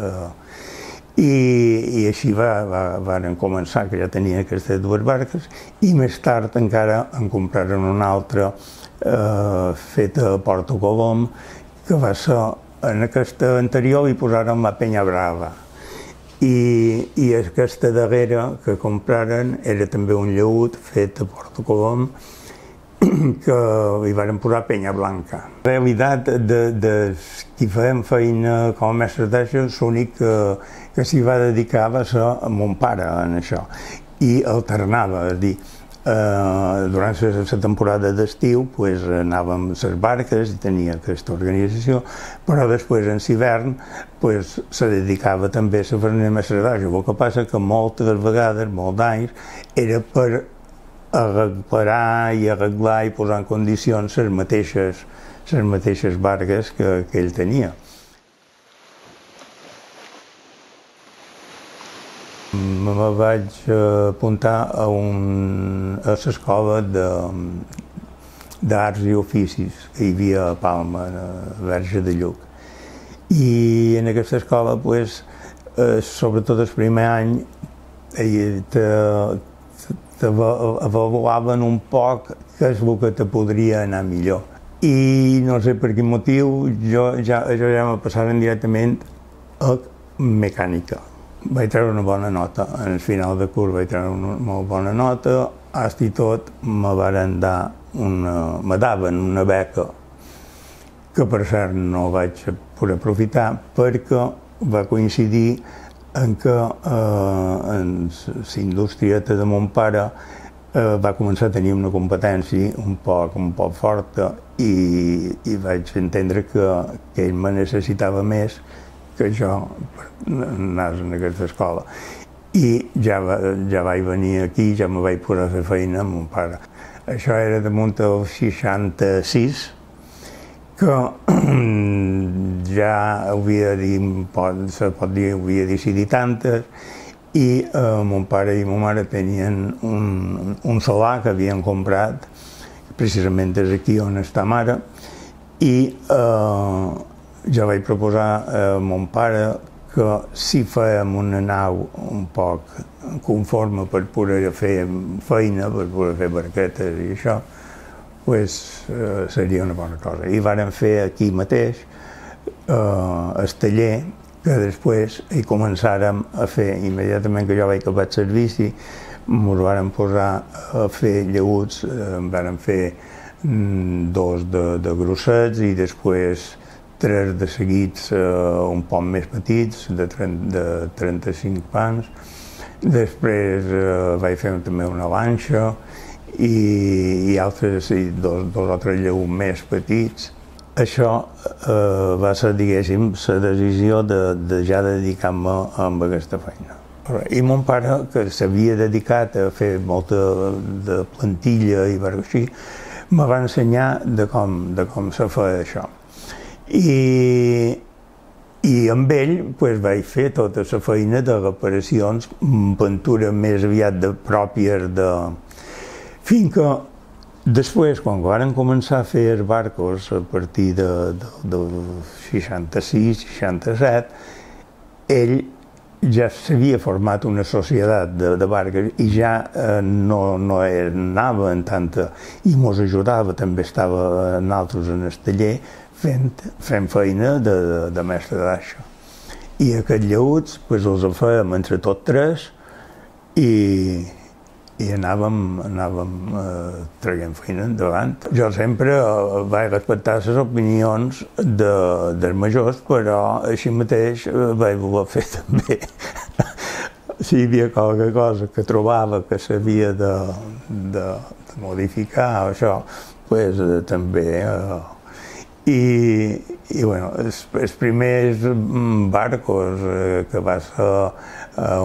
I així van començar, que ja tenien aquestes dues barques, i més tard encara en compraren una altra feta a Porto Colom, que va ser, en aquesta anterior hi posaren la Penya Brava. I aquesta darrera que compraren era també un llaüt fet a Porto Colom, que hi van posar Penya Blanca. En realitat, de qui feien feina com a mestre d'aixa, l'únic que s'hi va dedicar va ser a mon pare en això, i alternava, és a dir, durant la temporada d'estiu anàvem a les barques i tenia aquesta organització, però després en l'hivern se dedicava també a la feina de mestre d'aixa. El que passa que moltes vegades, molts anys, era per reparar i arreglar i posar en condicions les mateixes barques que ell tenia. Me vaig apuntar a l'escola d'arts i oficis que hi havia a Palma, a Verge de Lluc. I en aquesta escola, sobretot el primer any, t'avaluaven un poc què és el que te podria anar millor. I no sé per quin motiu, jo ja me passaven directament a mecànica. Vaig treure una bona nota, en el final de curs vaig treure una molt bona nota, fins i tot me daven una beca, que per cert no vaig poder aprofitar, perquè va coincidir en què la indústria de mon pare va començar a tenir una competència un poc forta i vaig entendre que ell me necessitava més que jo anés en aquesta escola. I ja vaig venir aquí, ja me vaig posar a fer feina amb mon pare. Això era damunt del 66, que ja havia decidit tantes, i mon pare i ma mare tenien un solar que havien comprat, precisament des d'aquí on està mare, i jo vaig proposar a mon pare que si fèiem una nau un poc conforme per poder fer feina, per poder fer barquetes i això, seria una bona cosa. I vàrem fer aquí mateix el taller, que després hi començàrem a fer, immediatament que jo vaig acabar el servici, ens vàrem posar a fer llaüts, vàrem fer 2 de grossets i després 3 de seguits un poc més petits, de 35 pans. Després vaig fer també una lanxa i altres, 2 o 3 llaüts més petits. Això va ser, diguéssim, la decisió de ja dedicar-me a aquesta feina. I mon pare, que s'havia dedicat a fer molta de plantilla i així, me va ensenyar de com se feia això. I amb ell vaig fer tota la feina de reparacions, pintura més aviat pròpies de... Fins que després, quan varen començar a fer els barcos a partir del 66-67, ell ja s'havia format una societat de barques i ja no anava en tanta... i mos ajudava, també estava nosaltres en el taller fent feina de mestre d'aixa. I aquests llaüts els fèiem entre tots 3 i anàvem traient feina endavant. Jo sempre vaig respectar les opinions dels majors, però així mateix vaig voler fer també. Si hi havia qualque cosa que trobava que s'havia de modificar, això, també... I els primers barcos, que va ser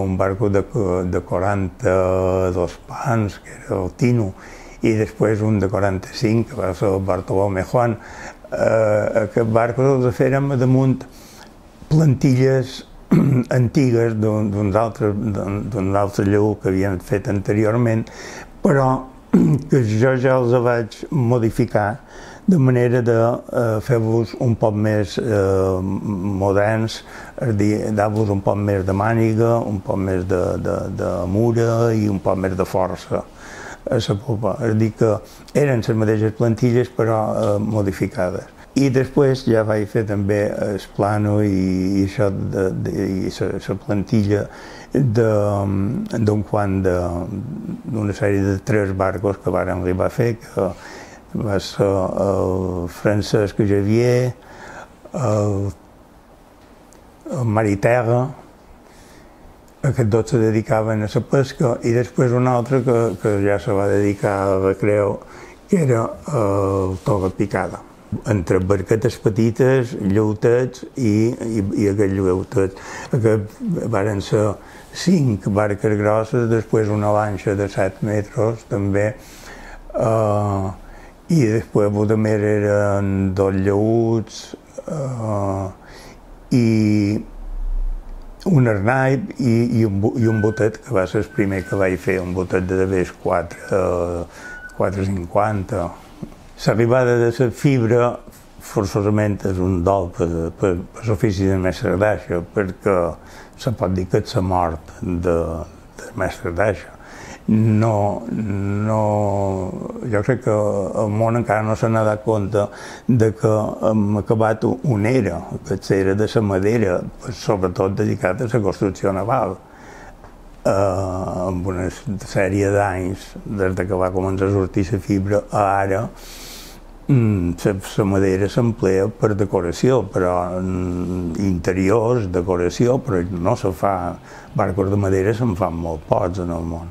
un barco de 42 pans, que era el Tino, i després un de 45, que va ser el Bartolomé Juan, aquests barcos els fèrem damunt plantilles antigues d'un altre lleó que havien fet anteriorment, però que jo ja els vaig modificar de manera de fer-vos un poc més moderns, dar-vos un poc més de màniga, un poc més de mura i un poc més de força a la popa. És a dir, que eren les mateixes plantilles però modificades. I després ja vaig fer també el plano i això i la plantilla d'una sèrie de 3 barcos que varen arribar a fer, que va ser el Francesc Javier, el Mariterra, aquests dos se dedicaven a la pesca, i després un altre que ja se va dedicar a recreu, que era el Torre Picada. Entre barquetes petites, lleutets i aquests lleutets. Varen ser 5 barques grosses, després una lanxa de 7 metres també, i després també eren 2 lleuts i un arnaip i un botet, que va ser el primer que vaig fer, un botet de vés 4,50. L'arribada de la fibra forçosament és un dol per l'ofici de mestre d'aixa, perquè se pot dir que és la mort del mestre d'aixa. Jo crec que el món encara no se n'ha dat compte que hem acabat una era, que és l'era de la madera, sobretot dedicat a la construcció naval. Amb una sèrie d'anys, des que va començar a sortir la fibra a ara, la madera s'emplea per decoració, però interiors, decoració, però no se fa... Barcos de madera se'n fan molt pocs en el món.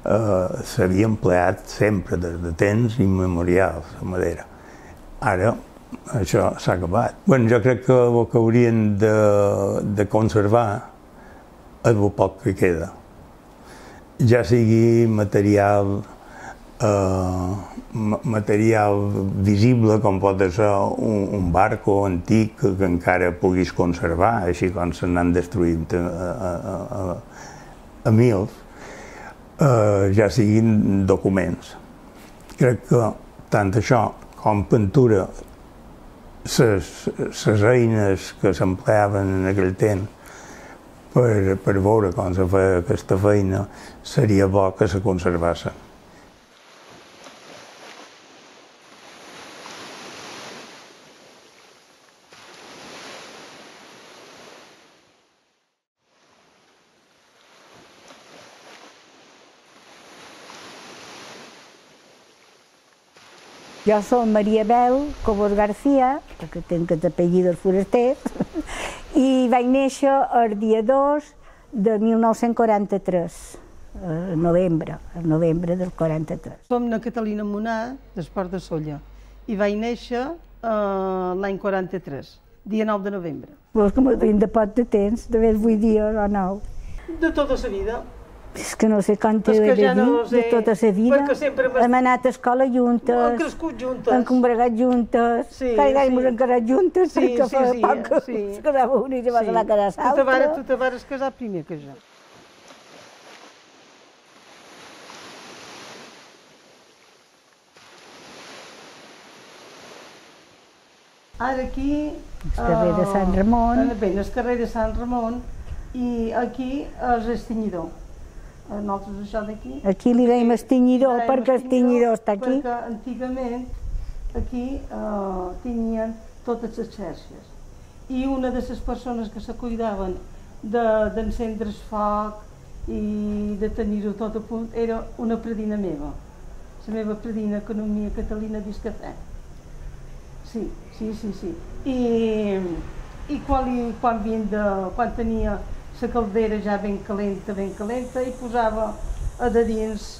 S'havia empleat sempre, des de temps immemorials, la madera. Ara això s'ha acabat. Jo crec que el que haurien de conservar és el poc que queda. Ja sigui material visible, com pot ser un barco antic que encara puguis conservar, així com se n'han destruït a mils, ja siguin documents. Crec que tant això com pintura, les eines que s'empleaven en aquell temps per veure com se feia aquesta feina, seria bo que se conservassin. Jo soc Maria Bel Cobos García, perquè tinc els apellidos forasters, i vaig néixer el dia 2 de 1943, el novembre del 43. Som na Catalina Monà, d'Esport de Sóller, i vaig néixer l'any 43, dia 9 de novembre. Però és que m'ho tinc de poc de temps, de més 8 dies o 9. De tota la vida. És que no sé quan t'he de dir, de tota la vida. Hem anat a escola juntes, hem crescut juntes, hem combregat juntes, cada any ens hem casat juntes, perquè fa poc que es casava una i se va anar a casar l'altra. Tu te vas casar primer que jo. Ara aquí... El carrer de Sant Ramon. Bé, el carrer de Sant Ramon, i aquí és el tenyidor. Nosaltres això d'aquí... Aquí li dèiem estinyidor, perquè estinyidor està aquí. Perquè antigament aquí tenyien totes les xarxes. I una de les persones que se cuidaven d'encendre el foc i de tenir-ho tot a punt era una predina meva. La meva predina, Economia Catalina Discafè. Sí. I quan tenia la caldera ja ben calenta, i posava a de dins,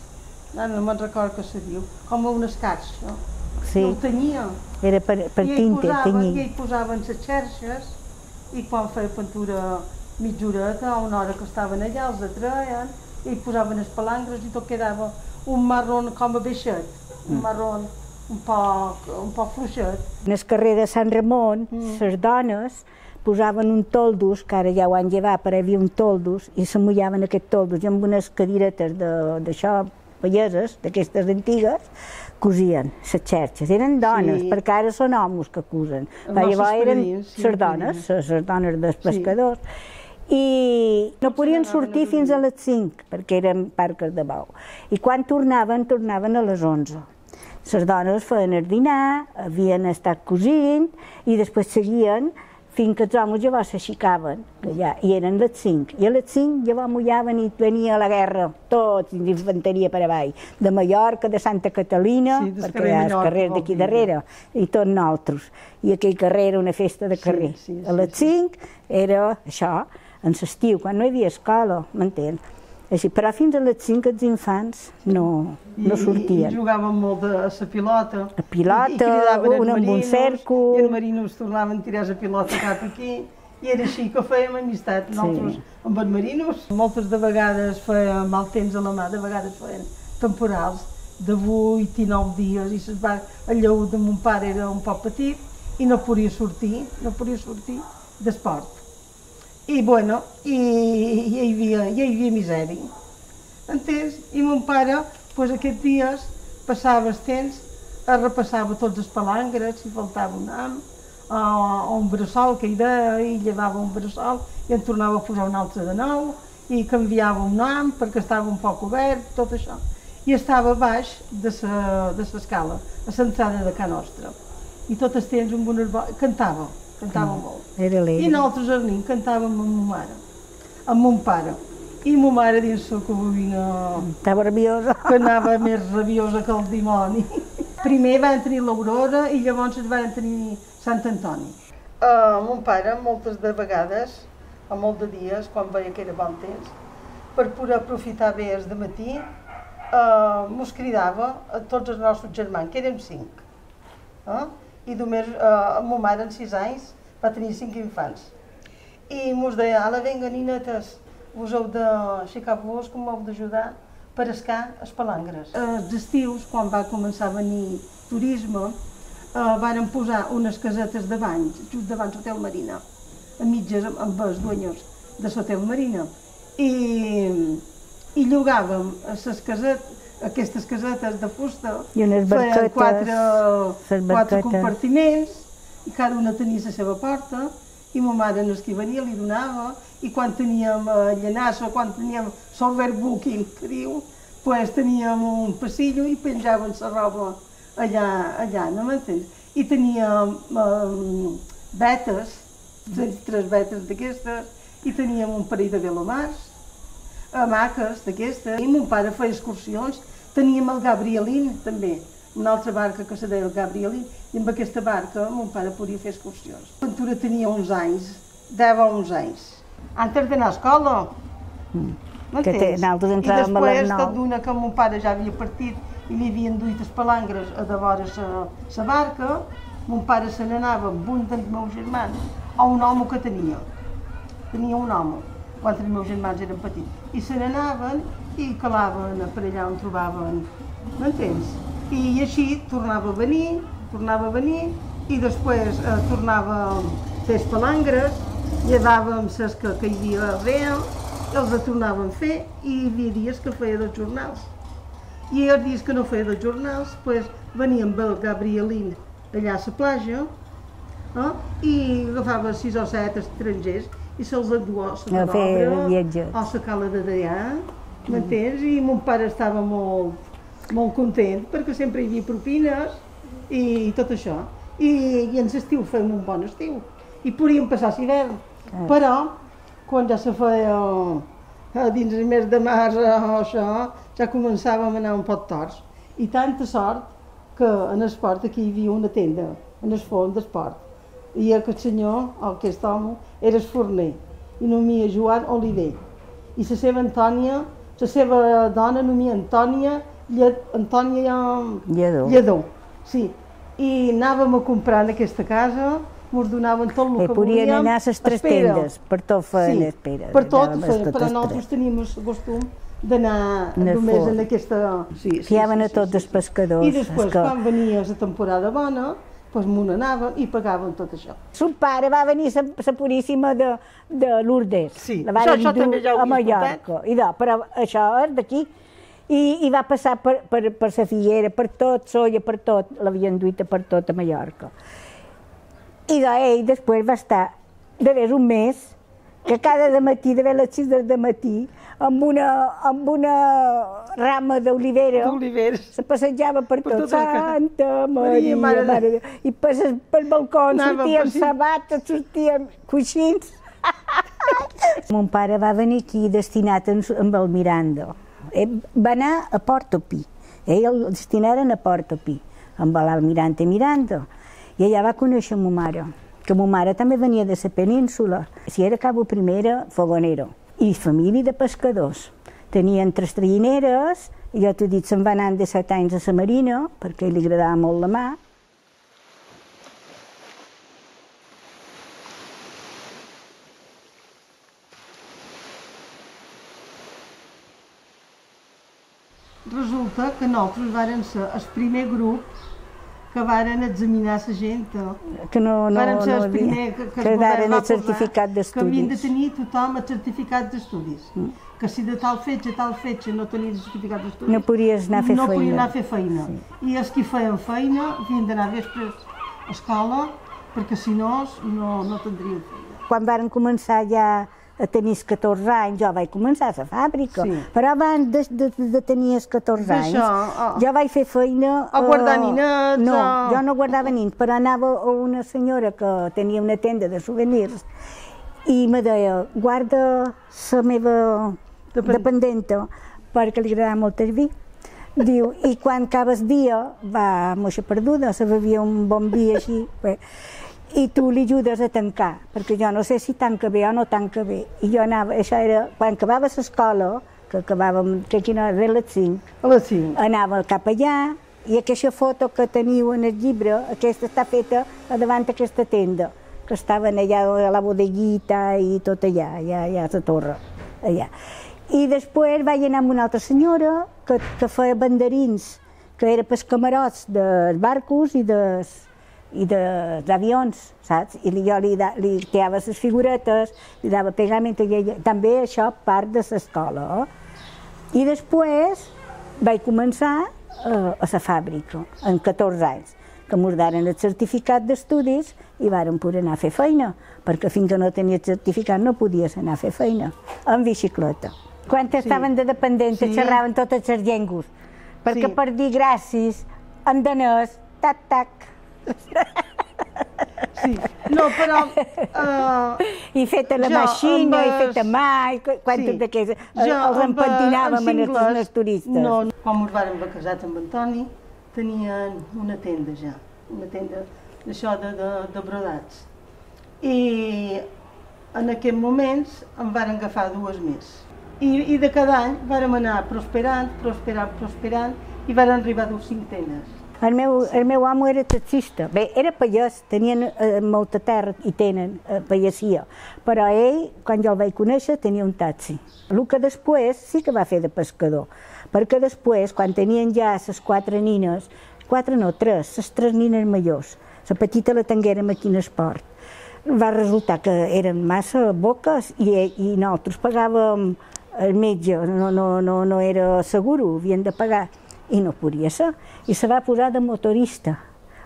no me'n recordo què se diu, com un escarx, no? Sí. El tenia. Era per tinta, tenyir. I ell posaven les xerxes, i quan feia pintura mitja horeta, a una hora que estaven allà, els atreien, i posaven les palangres i tot quedava un marrón com a baixet, un marrón un poc fluixet. En el carrer de Sant Ramon, les dones posaven un toldus, que ara ja ho han llevat, però hi havia un toldus, i se mullaven aquest toldus, i amb unes cadiretes d'això, palleses, d'aquestes antigues, cosien les xerxes. Eren dones, perquè ara són homes que cosen. Llavors eren les dones dels pescadors. I no podien sortir fins a les 5, perquè eren barques de bou. I quan tornaven a les 11. Les dones feien el dinar, havien estat cosint, i després seguien fins que els homes llavors s'aixecaven, i eren les 5. I a les 5 llavors mullaven i venia la guerra, tots, d'infanteria per avall, de Mallorca, de Santa Catalina, perquè hi ha els carrers d'aquí darrere, i tots nosaltres. I aquell carrer era una festa de carrer. A les 5 era això, en l'estiu, quan no hi havia escola, m'entén? Però fins a les 5 els infants no sortien. I jugaven molt a la pilota. A pilota, un amb un cèrcol. I els marinos tornaven a tirar la pilota cap aquí. I era així que fèiem amistat nosaltres amb els marinos. Moltes de vegades feia mal temps a la mà, de vegades feien temporals de 8 i 9 dies. I el lleó de mon pare era un poc petit i no podia sortir d'esport. I bueno, hi havia misèria, entens? I mon pare, aquests dies, passava el temps, repassava tots els palangres, si faltava un ham, o un bressol que hi deia, i llevava un bressol, i en tornava a posar un altre de nou, i canviava un ham perquè estava un poc obert, tot això. I estava baix de l'escala, a l'entrada de Can Nostra. I tot el temps amb unes cantava molt. I nosaltres al nin cantàvem amb ma mare, amb mon pare. I ma mare dins la cabina... Estava rabiosa. Que anava més rabiosa que el dimoni. Primer van tenir l'Aurora i llavors van tenir Sant Antoni. Mon pare, moltes de vegades, a molts de dies, quan veia que era bon temps, per poder aprofitar bé el dematí, mos cridava a tots els nostres germans, que érem 5. I només ma mare, en 6 anys, va tenir 5 infants. I mos deia, ala, vinga, ninetes, vos heu d'aixecar-vos, que m'heu d'ajudar per escar les palangres. Els estius, quan va començar a venir turisme, van posar unes casetes de banys, just davant l'Hotel Marina, a mitges amb els dueños de l'Hotel Marina. I llogàvem aquestes casetes de fusta, feien 4 compartiments, i cada una tenia la seva porta, i ma mare en el que venia li donava, i quan teníem llenassa, quan teníem l'overbooking, que diu, teníem un passillo i penjaven la roba allà, no m'entens? I teníem vetes, 3 vetes d'aquestes, i teníem un parell de velomars, hamaques d'aquestes, i mon pare feia excursions. Teníem el Gabrielín, també, una altra barca que se deia el Gabrielín, i amb aquesta barca mon pare podia fer excursions. Ventura tenia 11 anys, 10 o 11 anys, antes d'anar a escola. Nosaltres entràvem a les 9. I després, d'una que mon pare ja havia partit i li havien duit les palangres a devora la barca, mon pare se n'anava amb un dels meus germans a un home que tenia. Tenia un home, quan els meus germans eren petits. I se n'anaven i calaven per allà on trobaven, m'entens? I així tornava a venir, i després tornava a fer les palangres, llevàvem les que hi havia real, els tornàvem a fer, i hi havia dies que feia 2 jornals. I els dies que no feia 2 jornals, venia amb el Gabrielín allà a la platja, i agafava 6 o 7 estrangers i se'ls enduia a la Obra o a la Cala de Deià, m'entens? I mon pare estava molt content perquè sempre hi havia propines i tot això. I en l'estiu fèiem un bon estiu i podíem passar l'hivern, però quan ja se feia dins el mes de març o això, ja començàvem a anar un poc torts. I tanta sort que en esport aquí hi havia una tenda, en el fons d'esport. I aquest senyor, aquest home, era el forner, i nomia Joan Oliver. I la seva Antònia, la seva dona nomia Antònia Lledó. Sí. I anàvem a comprar en aquesta casa, ens donaven tot el que volíem. Podien anar a les 3 tendes, per tot feien espera. Per tot feien, però nosaltres teníem el costum d'anar només en aquesta... Fiaven a tots els pescadors. I després, quan venia la temporada bona, doncs m'ho anaven i pagaven tot això. Son pare va venir la Puríssima de Lourdes. Sí, la van això també ja ho a havia Mallorca. Però això és d'aquí. I va passar per la Figuera, per tot, Solla, per tot, l'havien duit per tot a Mallorca. I ell després va estar d'haver un mes, que cada matí, d'haver les 6 de matí, amb una rama d'olivera, se passejava per tot. Santa Maria, Mare de Déu. I pel balcó sortien sabates, sortien coixins. Mon pare va venir aquí destinat amb el Miranda. Va anar a Portopí. Ell el destinaren a Portopí, amb l'almirante Miranda. I allà va conèixer ma mare, que ma mare també venia de la península. Si era cabo primera, fogonero. I família de pescadors. Tenien 3 traïneres, i jo t'he dit, se'n va anar de 7 anys a la marina, perquè li agradava molt la mà. Resulta que nosaltres vàrem ser el primer grup que varen examinar la gent. Que no ser el primer que daren el certificat d'estudis. Que havien de tenir tothom el certificat d'estudis. Que si de tal fetge no tenies el certificat d'estudis, no podies anar a fer feina. No podies anar a fer feina. I els que feien feina havien d'anar vespres a escola, perquè si no, no tindrien feina. Quan varen començar ja a tenir 14 anys, jo vaig començar a la fàbrica, però abans de tenir 14 anys, jo vaig fer feina... A guardar ninets? No, jo no guardava nins, però anava a una senyora que tenia una tenda de souvenirs i me deia, guarda la meva dependenta, perquè li agradava molt el vi. Diu, i quan acaba el dia, va moixa perduda, se bevia un bon vi així, i tu li ajudes a tancar, perquè jo no sé si tanca bé o no tanca bé. I jo anava, això era, quan acabava l'escola, que acabàvem, que aquí no era les 5, a les 5, anava cap allà, i aquesta foto que teniu en el llibre, aquesta està feta davant d'aquesta tenda, que estaven allà a la bodeguita i tot allà, allà a la torre, allà. I després vaig anar amb una altra senyora que feia banderins, que era pels camarots dels barcos i dels avions, saps? I jo li creava les figuretes, li dava pegament, també això part de l'escola. I després vaig començar a la fàbrica, amb 14 anys, que m'ho daren el certificat d'estudis i vàrem poder anar a fer feina, perquè fins que no tenia el certificat no podies anar a fer feina, amb bicicleta. Quan estaven de dependents xerraven totes les llengües, perquè per dir gràcies, en danès, tac-tac. Sí, no, però... I fet a la maixina, i fet a mà, i quantes d'aquestes els empentinàvem als turistes. No, quan ens vàrem casar amb Antoni, tenien una tenda ja, una tenda d'això de brodats. I en aquests moments en varen agafar 2 més. I de cada any vàrem anar prosperant, i varen arribar a 5 tendes. El meu amo era taxista. Bé, era pagès, tenien molta terra i tenen pagesia, però ell, quan jo el vaig conèixer, tenia un taxi. El que després sí que va fer de pescador, perquè després, quan tenien ja les 4 nines, 4 no, 3, les 3 nines majors, la petita la tinguérem aquí en esport, va resultar que eren massa boques i nosaltres pagàvem el metge, no era seguro, havien de pagar. I no podia ser. I se va posar de motorista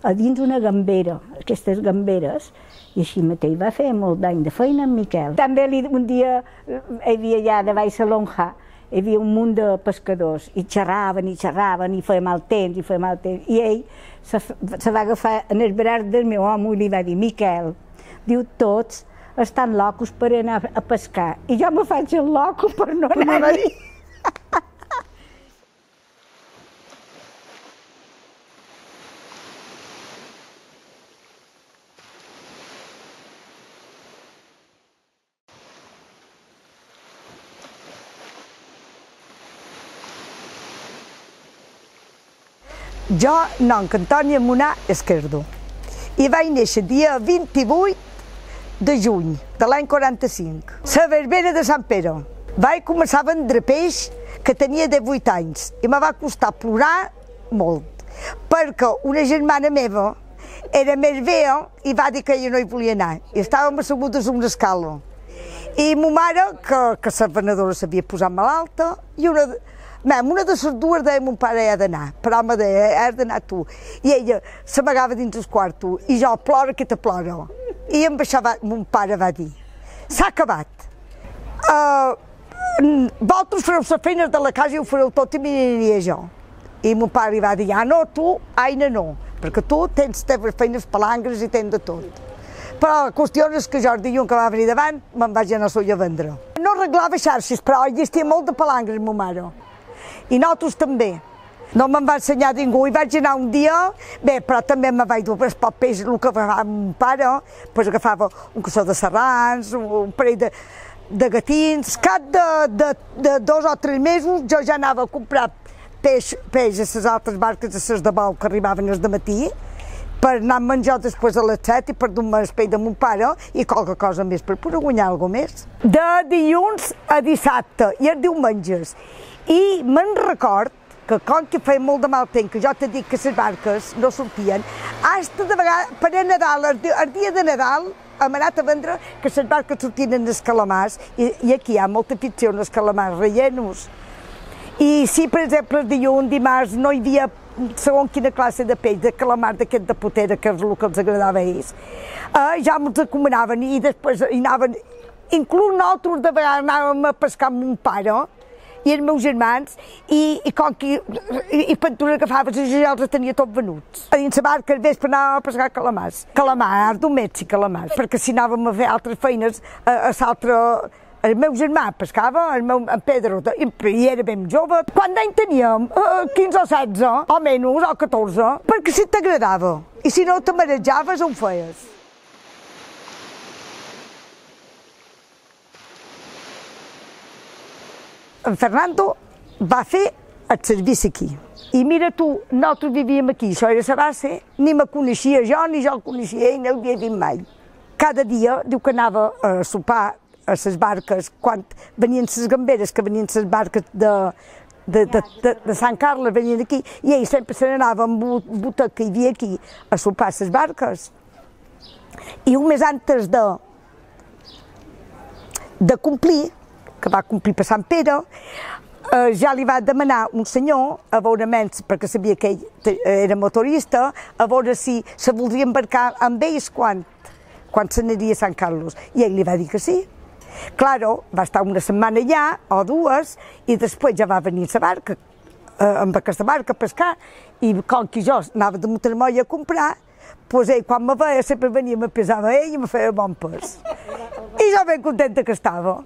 a dins una gambera, aquestes gamberes, i així mateix va fer molt d'any de feina en Miquel. També un dia hi havia allà de baix a Lonja, hi havia un munt de pescadors i xerraven, i feia mal temps, i ell se va agafar en el braç del meu home i li va dir, Miquel, diu, tots estan locos per anar a pescar, i jo me faig el loco per no anar-hi. Jo, nom Antònia Munà Esquerdo, i vaig néixer dia 28 de juny de l'any 45, a la verbena de Sant Pere. Vaig començar a vendre peix que tenia 18 anys i me va costar plorar molt, perquè una germana meva era més vella i va dir que ella no hi volia anar. I estàvem assegudes a una escala. I ma mare, que la venedora s'havia posat malalta, i una de les dues deia mon pare ha d'anar, però me deia, has d'anar tu. I ella s'amagava dins el quarto, i jo, plora que te plora. I amb això mon pare va dir, s'ha acabat. Vosaltres fareu les feines de la casa i ho fareu tot i m'aniria jo. I mon pare li va dir, no, tu, Aina, no, perquè tu tens teves feines palangres i tens de tot. Però la qüestió és que jo el dilluns que va venir davant me'n vaig anar sola a vendre. No arreglava xarxes, però existia molt de palangres, ma mare. I nosaltres també. No me'n va ensenyar ningú, i vaig anar un dia, bé, però també me vaig dur els papers, el que agafava mon pare, doncs agafava un cassó de serrans, un parell de gatins. Cap de 2 o 3 mesos jo ja anava a comprar peix a les altres barques, a les de bou que arribaven al matí, per anar a menjar després a les 7 i per dur-me el peix de mon pare i qualque cosa més per poder guanyar alguna cosa més. De dilluns a dissabte i els diumenges. I me'n record que com que feia molt de mal temps, que jo t'he dit que les barques no sortien, hasta de vegades, per a Nadal, el dia de Nadal, hem anat a vendre que les barques sortien en els calamars, i aquí hi ha molta afició en els calamars rellenos. I si, per exemple, el dilluns, dimarts, no hi havia segons quina classe de peix, de calamar d'aquest de potera, que és el que els agradava a ells, ja ens recomanaven i després hi anaven, inclús nosaltres de vegades anàvem a pescar amb mon pare i els meus germans, i Pentura agafava i ja els tenia tots venuts. A dins la barca al vespre anàvem a pescar calamars, domèstics i calamars, perquè si anàvem a fer altres feines, el meu germà pescava, en Pedro, i era ben jove. Quant d'any teníem? 15 o 16, o menys, o 14, perquè si t'agradava. I si no te marejaves, on feies? En Fernando va fer el servici aquí. I mira tu, nosaltres vivíem aquí, això era la base, ni me coneixia jo, ni jo el coneixia ell, no l'havia vist mai. Cada dia diu que anava a sopar a les barques, quan venien les gamberes, que venien les barques de Sant Carles, venien aquí, i ell sempre se n'anava amb botec que hi havia aquí a sopar les barques. I un mes antes de complir, que va complir per Sant Pere, ja li va demanar un senyor, a veure menys, perquè sabia que ell era motorista, a veure si se voldria embarcar amb ells quan se n'aniria a Sant Carlos. I ell li va dir que sí. Claro, va estar una setmana allà, o 2, i després ja va venir la barca, amb aquesta barca a pescar, i com que jo anava de Montermoll a comprar, doncs ell quan me veia sempre venia, me pesava ell i me feia bon pes. I jo ben contenta que estava.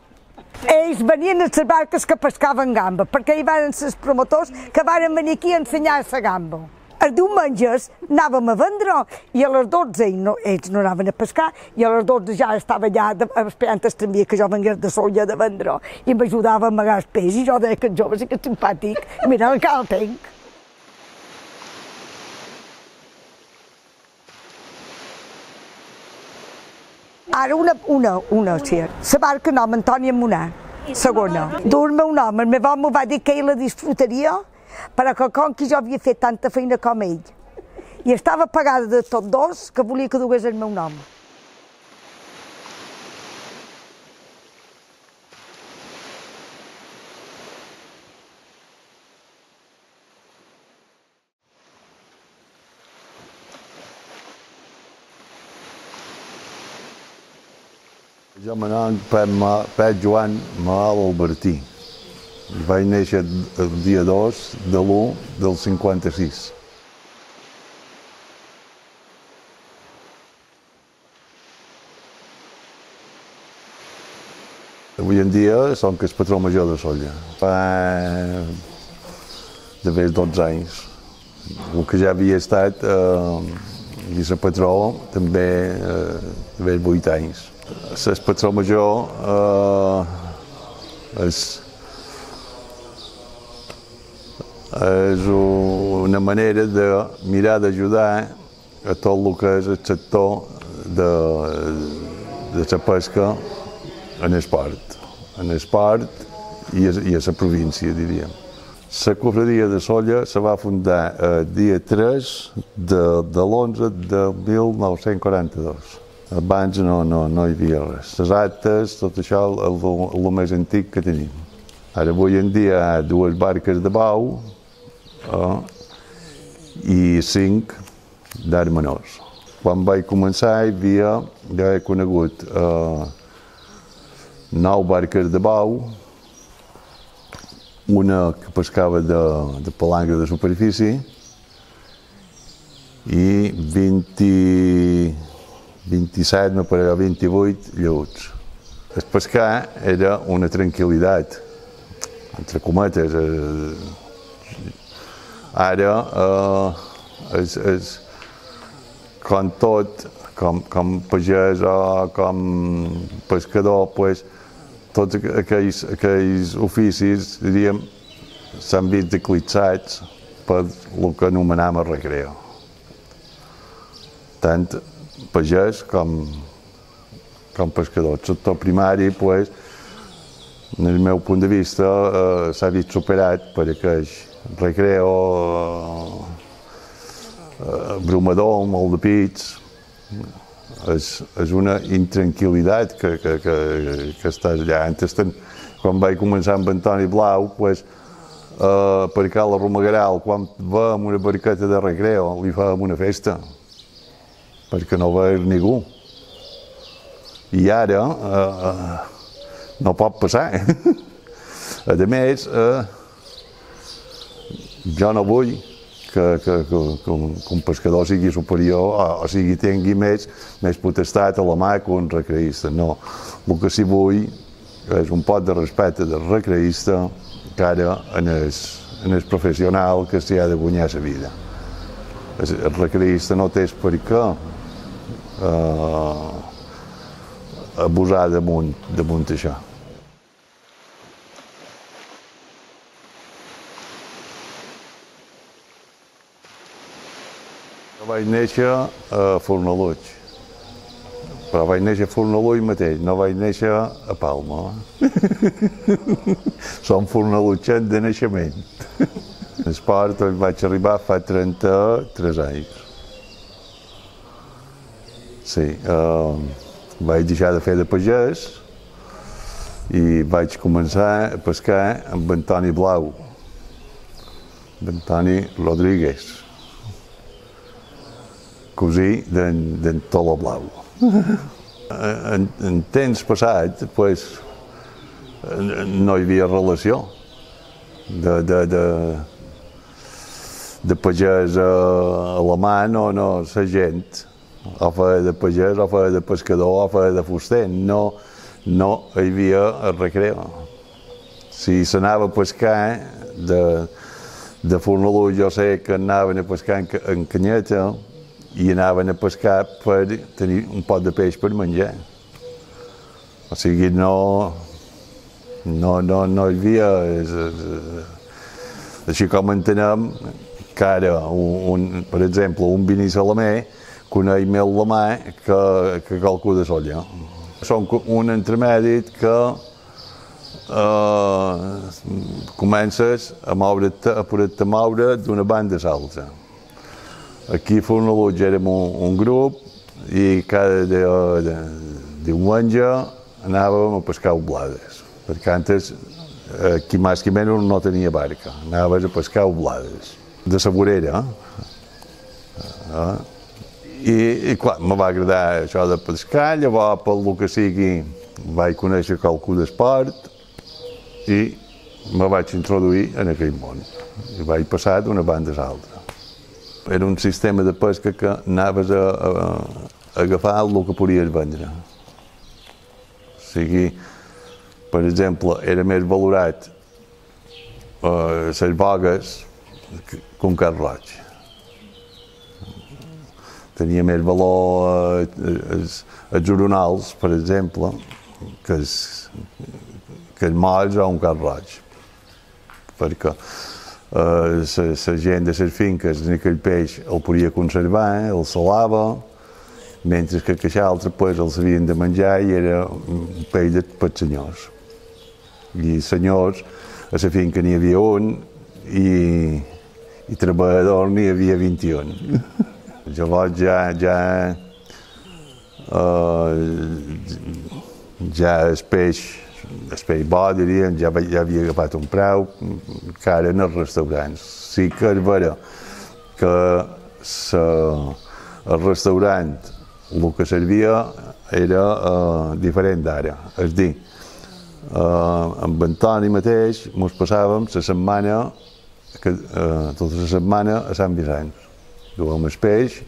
Ells venien a les barques que pescaven gamba, perquè hi van els promotors que van venir aquí a ensenyar la gamba. Els diumenges anàvem a vendre i a les 12 ells no anaven a pescar i a les 12 ja estava allà esperant el tramvia que jo vengués de solla de vendre i m'ajudava a amagar el peix i jo deia que el jove sí que és simpàtic, mira, encara el tenc. Ara una, sí. La barca nom Antònia Monà, segona. Dur el meu nom, el meu home va dir que ell la disfrutaria, però que com que jo havia fet tanta feina com ell, i estava pagada de tots dos, que volia que dugués el meu nom. Jo m'anom Pep Joan Malalt Albertí. Vaig néixer el dia 2 de l'1 del 56. Avui en dia som el patró major de Sóller. Fa d'haver 12 anys. El que ja havia estat vicepatró també d'haver 8 anys. El patró major és una manera de mirar d'ajudar a tot el que és el sector de la pesca en esport i a la província, diríem. La cofradia de Sóller se va fundar el dia 3 de l'11 de 1942. Abans no hi havia res. Les actes, tot això és el més antic que tenim. Ara, avui en dia, hi ha 2 barques de bau i 5 d'arts menors. Quan vaig començar ja he conegut 9 barques de bau, una que pescava de palangre de superfície i 27, no pararà, 28 lleuts. El pescar era una tranquil·litat, entre cometes. Ara, com tot, com pagès o com pescador, tots aquells oficis, diríem, s'han vist eclipsats per el que anomenam el recreo. Tant pagès com pescador. El sector primari, des del meu punt de vista, s'ha vist superat per aquell recreo, bromador, molt de pits. És una intranquil·litat que està allà. Antes, quan vaig començar amb Antoni Blau, per Cala Romagueral, quan veiem una barqueta de recreo, li fèiem una festa, perquè no veia ningú. I ara no pot passar. A més, jo no vull que un pescador sigui superior o sigui tingui més potestat a la mà que un recreista. No, el que sí vull és un pot de respecte del recreista cara en el professional que s'hi ha de guanyar la vida. El recreista no té per què abusar damunt això. Jo vaig néixer a Fornalutx, però vaig néixer a Fornalutx mateix, no vaig néixer a Palma. Som fornalutxens de naixement. L'esport vaig arribar fa 33 anys. Sí, vaig deixar de fer de pagès i vaig començar a pescar amb Antoni Blau, amb Antoni Rodríguez, cosí d'en Tolo Blau. En temps passat, no hi havia relació de pagès a la mà, no, la gent o feia de pagès, o feia de pescador, o feia de fuster. No hi havia el recreo. Si s'anava a pescar de Fornalutx, jo sé que anaven a pescar en canyeta i anaven a pescar per tenir un pot de peix per menjar. O sigui, no hi havia... Així com entenem que ara, per exemple, un vinissalamé coneix més la mà que qualcú de Sóller. Són un entremèdit que comences a poder-te moure d'una banda a l'altra. Aquí a Fornalutx érem un grup i cada diumenge anàvem a pescar oblades, perquè antes qui més que menys no tenia barca, anaves a pescar oblades, de la vorera. I clar, me va agradar això de pescar, llavors pel que sigui vaig conèixer qualcú d'esport i me vaig introduir en aquell món i vaig passar d'una banda a l'altra. Era un sistema de pesca que anaves a agafar el que podies vendre. O sigui, per exemple, era més valorat les bogues que un carn roig. Tenia més valor els oronals, per exemple, que els molls o un carn roig. Perquè la gent de les finques en aquell peix el podia conservar, el salava, mentre que aquell altre els havien de menjar i era un peix per senyors. I senyors, a la finca n'hi havia un i treballadors n'hi havia 21. Llavors ja el peix bo, diríem, ja havia agafat un preu que ara en els restaurants. Sí que és vera que el restaurant el que servia era diferent d'ara. És dir, amb Antoni mateix ens passàvem la setmana, tota la setmana a Sant Vicenç. Duem el peix,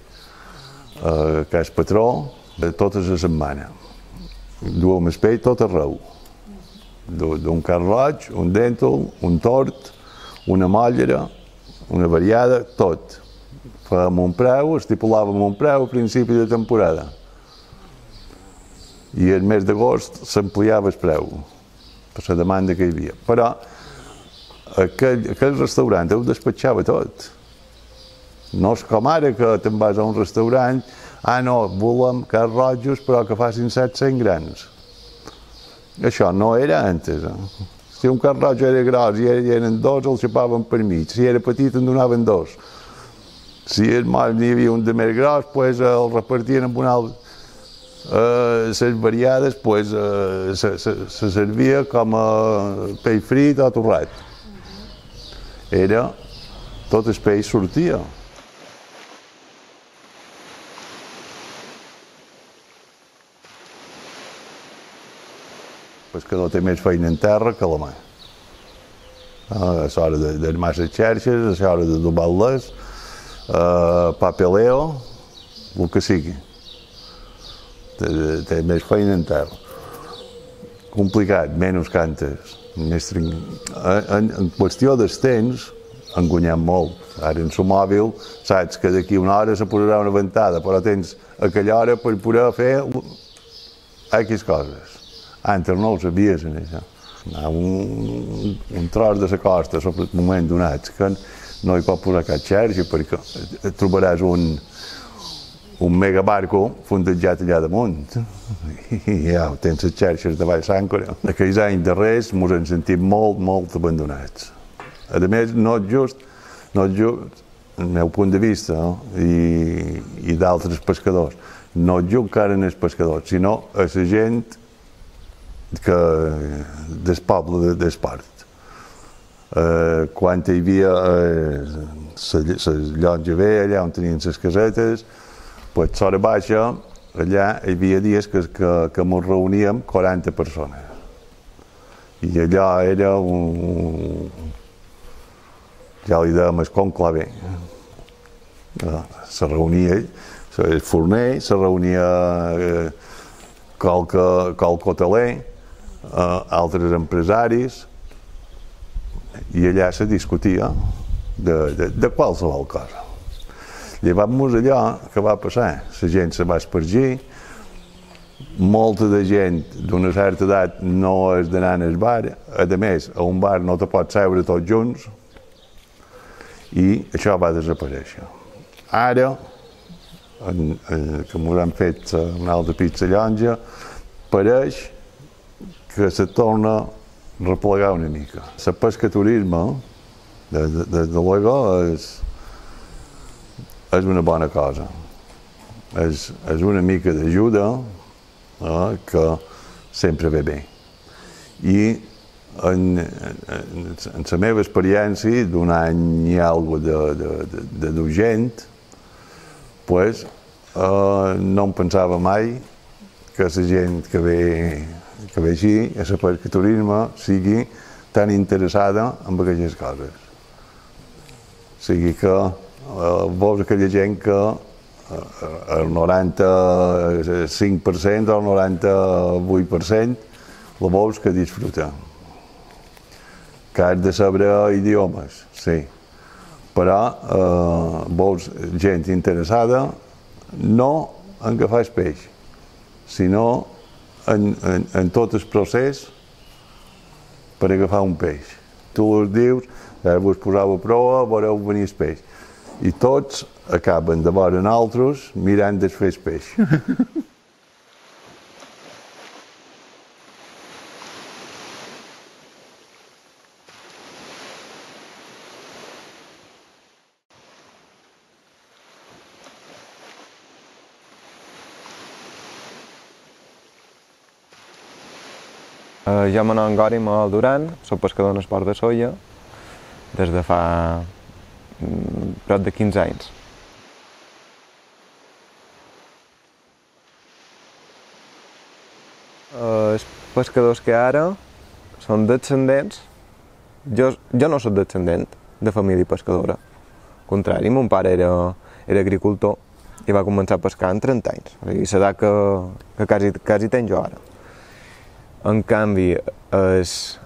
que és patró, tota la setmana. Duem el peix tot arreu. D'un carn roig, un dèntol, un tort, una mollera, una variada, tot. Fèiem un preu, estipulàvem un preu a principi de temporada. I el mes d'agost s'ampliava el preu, per la demanda que hi havia. Però aquell restaurant ho despatxava tot. No és com ara que te'n vas a un restaurant, no, volem carns rojos però que facin 700 grans. Això no era antes. Si un carn roig era gros i eren dos, el xapaven per mig. Si era petit, en donaven dos. Si el moll n'hi havia un de més gros, doncs el repartien amb un altre. Les variades, doncs, se servia com a peix frit o torrat. Era, tot el peix sortia. El pescador té més feina en terra que a la mà. És hora d'armar les xarxes, és hora de dobar-les, papeleo, el que sigui. Té més feina en terra. Complicat, menys que antes. En qüestió dels temps, han guanyat molt. Ara en el mòbil saps que d'aquí una hora se posarà una ventada, però tens aquella hora per poder fer X coses. Antes no ho sabies, això. Un tros de la costa, sobre el moment donat, que no hi pot posar cap xarxa, perquè trobaràs un megabarco fondejat allà damunt. I ja tens les xarxes de baix l'àncora. Aquells anys darrers ens hem sentit molt abandonats. A més, no és just, el meu punt de vista, i d'altres pescadors, no és just encara en els pescadors, sinó a la gent del poble d'Esport. Quan hi havia la llotja vella, allà on tenien les casetes, doncs l'hora baixa, allà hi havia dies que ens reuníem 40 persones. I allò era ja li dèiem el conclave. Se reunia el forner, se reunia qualque hoteler, altres empresaris, i allà se discutia de qualsevol cosa. Llavors allò que va passar, la gent se va espargir, molta de gent d'una certa edat no és d'anar al bar, a més, a un bar no te pots seure tots junts, i això va desaparèixer. Ara, que ens han fet una altra pizza llonja, pareix que se torna a replegar una mica. El pescaturisme, des de luego, és una bona cosa. És una mica d'ajuda que sempre ve bé. I en la meva experiència, d'un any i alguna de gent, no em pensava mai que la gent que ve així, a el pescaturisme, sigui tan interessada en aquestes coses. O sigui que veus aquella gent que el 95% o el 98% la veus que disfruta. Que has de saber idiomes, sí, però veus gent interessada no en agafar el peix, sinó en tot el procés per agafar un peix. Tu els dius, vos poseu a prova, veureu venir el peix. I tots acaben de veure nosaltres mirant de fer el peix. Jo me nom Gori Manuel Duran, soc pescador en esport de Sóller des de fa prop de 15 anys. Els pescadors que ara són descendents, jo no soc descendent de família pescadora. Al contrari, mon pare era agricultor i va començar a pescar en 30 anys, o sigui, l'edat que quasi tenc jo ara. En canvi, els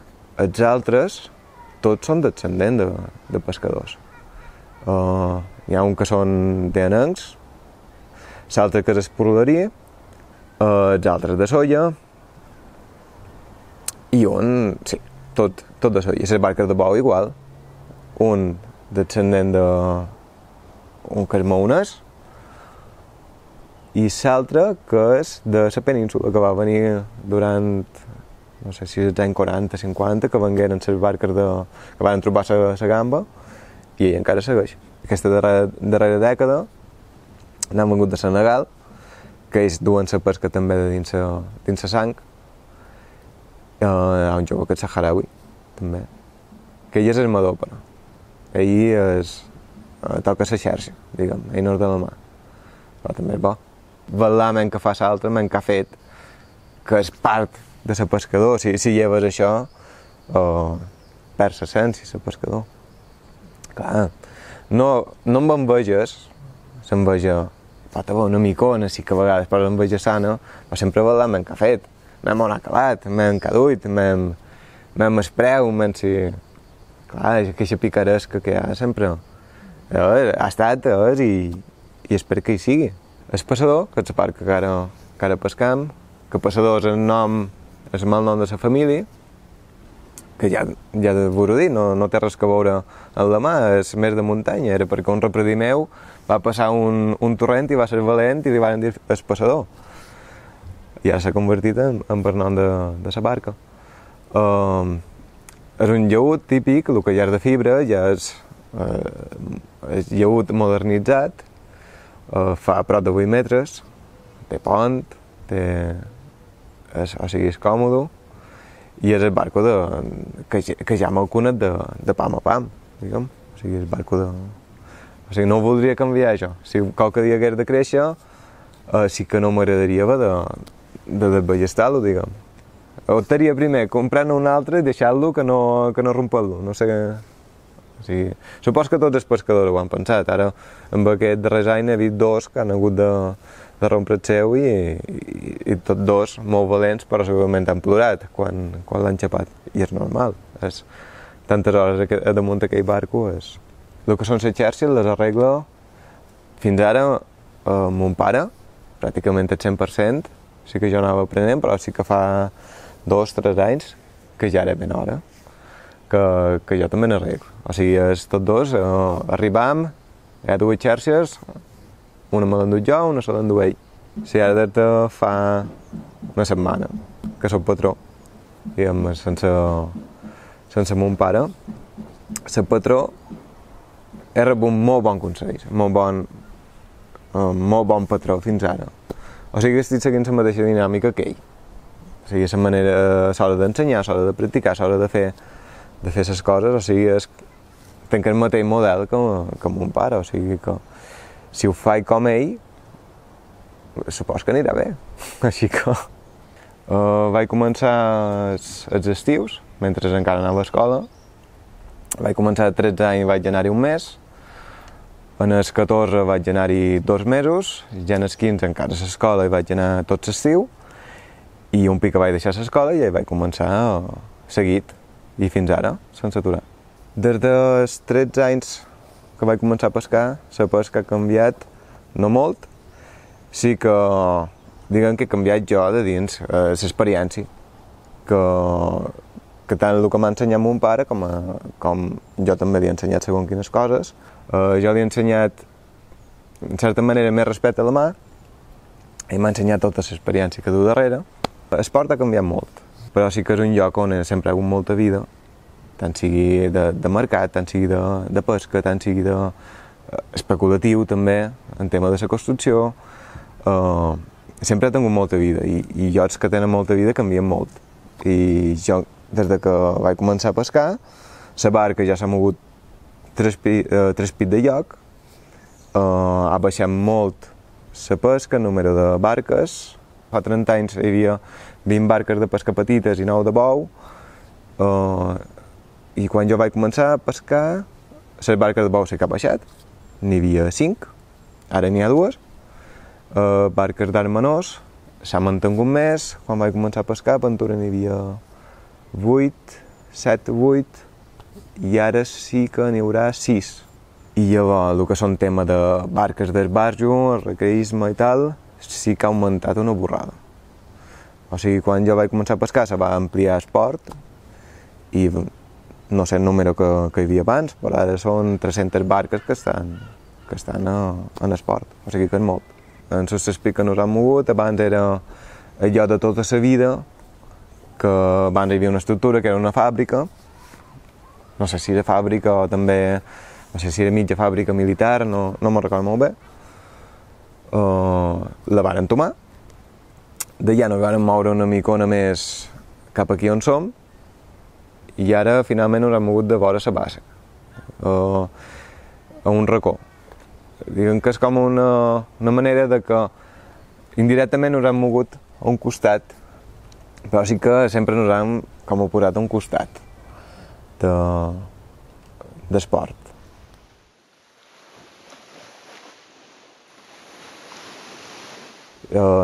altres, tots són descendents de pescadors. Hi ha un que són d'Anencs, l'altre que és Espurlerí, els altres de Sóller, i un, sí, tot de Sóller. Les barques de bou igual, un descendent d'un que és maonès, i l'altre que és de la península, que va venir durant, no sé si els anys 40-50, que vengueren les barques que van trobar la gamba, i ell encara segueix. Aquesta darrera dècada n'han vengut de Senegal, que ells duen la pesca també de dins la sang. Hi ha un jove que és saharaui, també, que ell és armador, però. Ell toca la xarxa, diguem, ell no és de la mà, però també és bo. Velar men que fa l'altre, men que ha fet, que és part de ser pescador. Si lleves això, perd l'essència, ser pescador. Clar, no amb enveges, l'enveja pot haver una micona, sí que a vegades, però l'enveja sana, però sempre velar men que ha fet. M'hem on ha calat, m'hem caduit, m'hem espreu, si... Clar, aquesta picaresca que hi ha sempre ha estat, i espero que hi sigui. El passador, que és la part que ara pescam, que passador és el malnom de la família, que ja de vos dir, no té res que veure amb la mà, és més de muntanya, era perquè un repredí meu va passar un torrent i va ser valent i li van dir el passador. I ja s'ha convertit en el nom de la barca. És un llaüt típic, el que ja és de fibra, ja és llaüt modernitzat, fa prop de 8 metres, té pont, o sigui, és còmode, i és el barco que ja m'ha conegut de pam a pam, diguem. O sigui, és barco de... O sigui, no ho voldria canviar, això. Si qualque dia hagués de créixer, sí que no m'agradaria haver de desballestar-lo, diguem. Optaria primer comprar-ne un altre i deixar-lo que no rompar-lo, no sé... O sigui, supos que tots els pescadors ho han pensat. Ara, amb aquest darrers any, he vist dos que han hagut de rompre el seu i tots dos molt valents, però segurament han plorat quan l'han xapat. I és normal. Tantes hores damunt d'aquell barco és... El que són les xarxes les arregla fins ara mon pare, pràcticament el 100%. Sí que jo anava aprenent, però sí que fa 2-3 anys que ja era ben hora que jo també n'arreglo. O sigui, tots dos arribam, hi ha dues xarxes, una me l'endut jo, una se l'endut ell. Si ara des de fa una setmana que soc patró, diguem, sense mon pare, ser patró he rebut molt bon consell, molt bon patró fins ara. O sigui que estic seguint la mateixa dinàmica que ell. O sigui, la manera, l'hora d'ensenyar, l'hora de practicar, l'hora de fer les coses, o sigui, tenc el mateix model que mon pare, o sigui que si ho faig com ell, supos que anirà bé. Així que vaig començar els estius, mentre encara anava a l'escola. Vaig començar a 13 anys i vaig anar-hi un mes. En els 14 vaig anar-hi 2 mesos, ja en els 15 encara a l'escola i vaig anar tot l'estiu, i un pic que vaig deixar l'escola i ja vaig començar seguit, i fins ara, sense aturar. Des dels 13 anys que vaig començar a pescar, la pesca ha canviat, no molt, sí que, diguem que he canviat jo de dins l'experiència, que tant el que m'ha ensenyat mon pare com jo també li he ensenyat segons quines coses. Jo li he ensenyat, en certa manera, més respecte a la mà, i m'ha ensenyat tota l'experiència que du darrere. L'esport ha canviat molt, però sí que és un lloc on sempre ha hagut molta vida, tant sigui de mercat, tant sigui de pesca, tant sigui especulatiu també, en tema de la construcció. Sempre ha tingut molta vida, i llocs que tenen molta vida canvien molt. i jo, des de que vaig començar a pescar, la barca ja s'ha mogut 3 pits de lloc, ha baixat molt la pesca, el número de barques. Fa 30 anys hi havia 20 barques de pesca petites i 9 de bou, i quan jo vaig començar a pescar, les barques de bou sí que ha baixat, n'hi havia 5, ara n'hi ha 2, barques d'arc menors, s'ha mantingut més, quan vaig començar a pescar a Ventura n'hi havia 8, 7 o 8, i ara sí que n'hi haurà 6. I llavors, el que són tema de barques d'esbarjo, el recreisme i tal, sí que ha augmentat una borrada. O sigui, quan jo vaig començar a pescar se va ampliar el port i no sé el número que hi havia abans, però ara són 300 barques que estan en el port, o sigui que és molt. En els pics que nos han mogut, abans era allò de tota la vida, que abans hi havia una estructura que era una fàbrica, no sé si era fàbrica o també, no sé si era mitja fàbrica militar, no me'n recordo molt bé. La van entomar, d'allà nos van moure una micona més cap aquí on som, i ara finalment ens hem mogut de vora la bassa, a un racó. Diguem que és com una manera de que indirectament ens hem mogut a un costat, però sí que sempre ens hem com posat a un costat d'esport.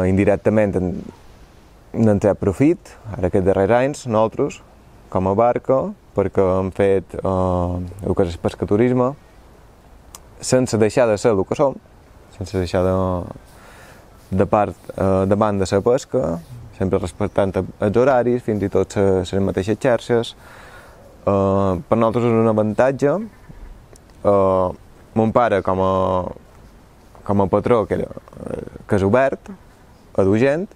Indirectament n'hem tret profit, ara aquests darrers anys, nosaltres, com a barca, perquè hem fet el que és el pescaturisme, sense deixar de ser el que som, sense deixar de banda de la pesca, sempre respectant els horaris, fins i tot les mateixes xarxes. Per nosaltres és un avantatge. Mon pare, com a patró, que és obert, a dur gent,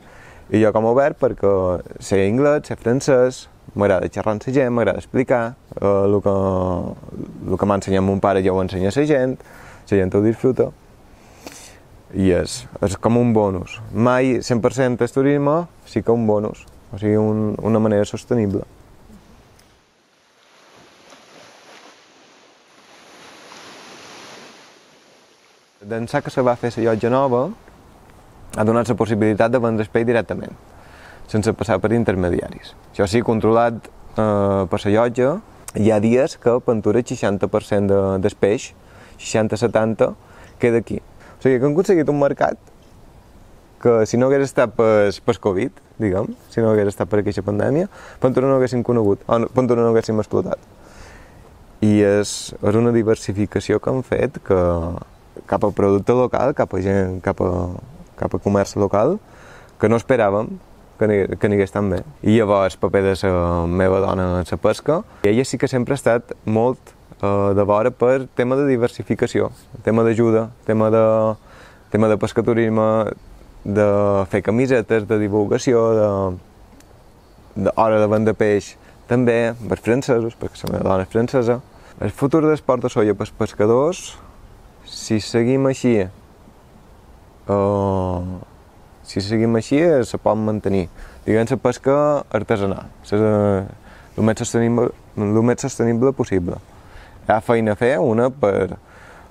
i jo com a obert perquè sé anglès, sé francès, m'agrada xerrar amb la gent, m'agrada explicar, el que m'ha ensenyat mon pare ja ho ensenya a la gent ho disfruta, i és com un bonus. Mai 100% del turisme, sí que un bonus, o sigui, una manera sostenible. D'ençà que se va fer la llotja nova, ha donat la possibilitat de vendre el peix directament, sense passar per intermediaris. Això sí, controlat per la llotja, hi ha dies que a Ventura el 60% del peix, 60-70, queda aquí. O sigui que hem aconseguit un mercat que si no hagués estat per Covid, diguem, si no hagués estat per aquesta pandèmia, Ventura no haguéssim conegut, o Ventura no haguéssim explotat. I és una diversificació que hem fet cap al producte local, cap a gent, cap a comerç local, que no esperàvem que n'hagués tan bé. I llavors el paper de la meva dona en la pesca, i ella sí que sempre ha estat molt de vora per tema de diversificació, tema d'ajuda, tema de pescaturisme, de fer camisetes, de divulgació, d'hora de vendre peix, també per francesos, perquè la meva dona és francesa. El futur d'esport de soia pels pescadors, si seguim així, se pot mantenir. Diguem la pesca artesanal, el més sostenible possible. Hi ha feina a fer, una per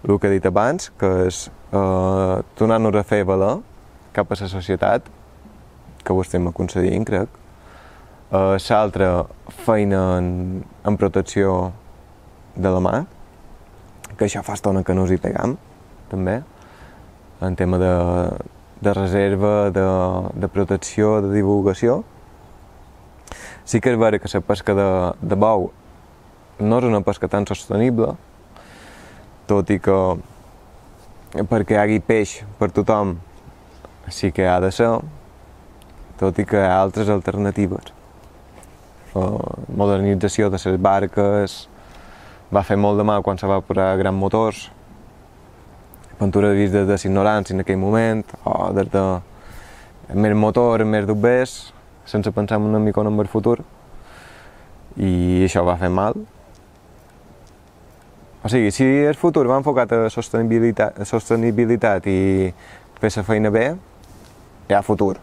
el que he dit abans, que és tornar-nos a fer valer cap a la societat, que ho estem aconseguint, crec. L'altra, feina en protecció de la mà, que això fa estona que no us hi pegam, també, en tema de reserva, de protecció, de divulgació. Sí que és vera que la pesca de bou no és una pesca tan sostenible, tot i que perquè hi hagi peix per tothom sí que ha de ser, tot i que hi ha altres alternatives. Modernització de les barques, va fer molt de mal quan se va posar grans motors. Ventura ha vist des de l'ignorància en aquell moment, o des de més motor, més dubbers, sense pensar una mica en el futur, i això va fer mal. O sigui, si el futur va enfocat a sostenibilitat i fer la feina bé, hi ha futur.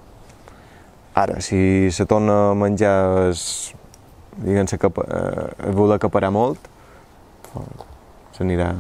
Ara, si se torna a menjar diguem-se, voler acaparar molt, s'anirà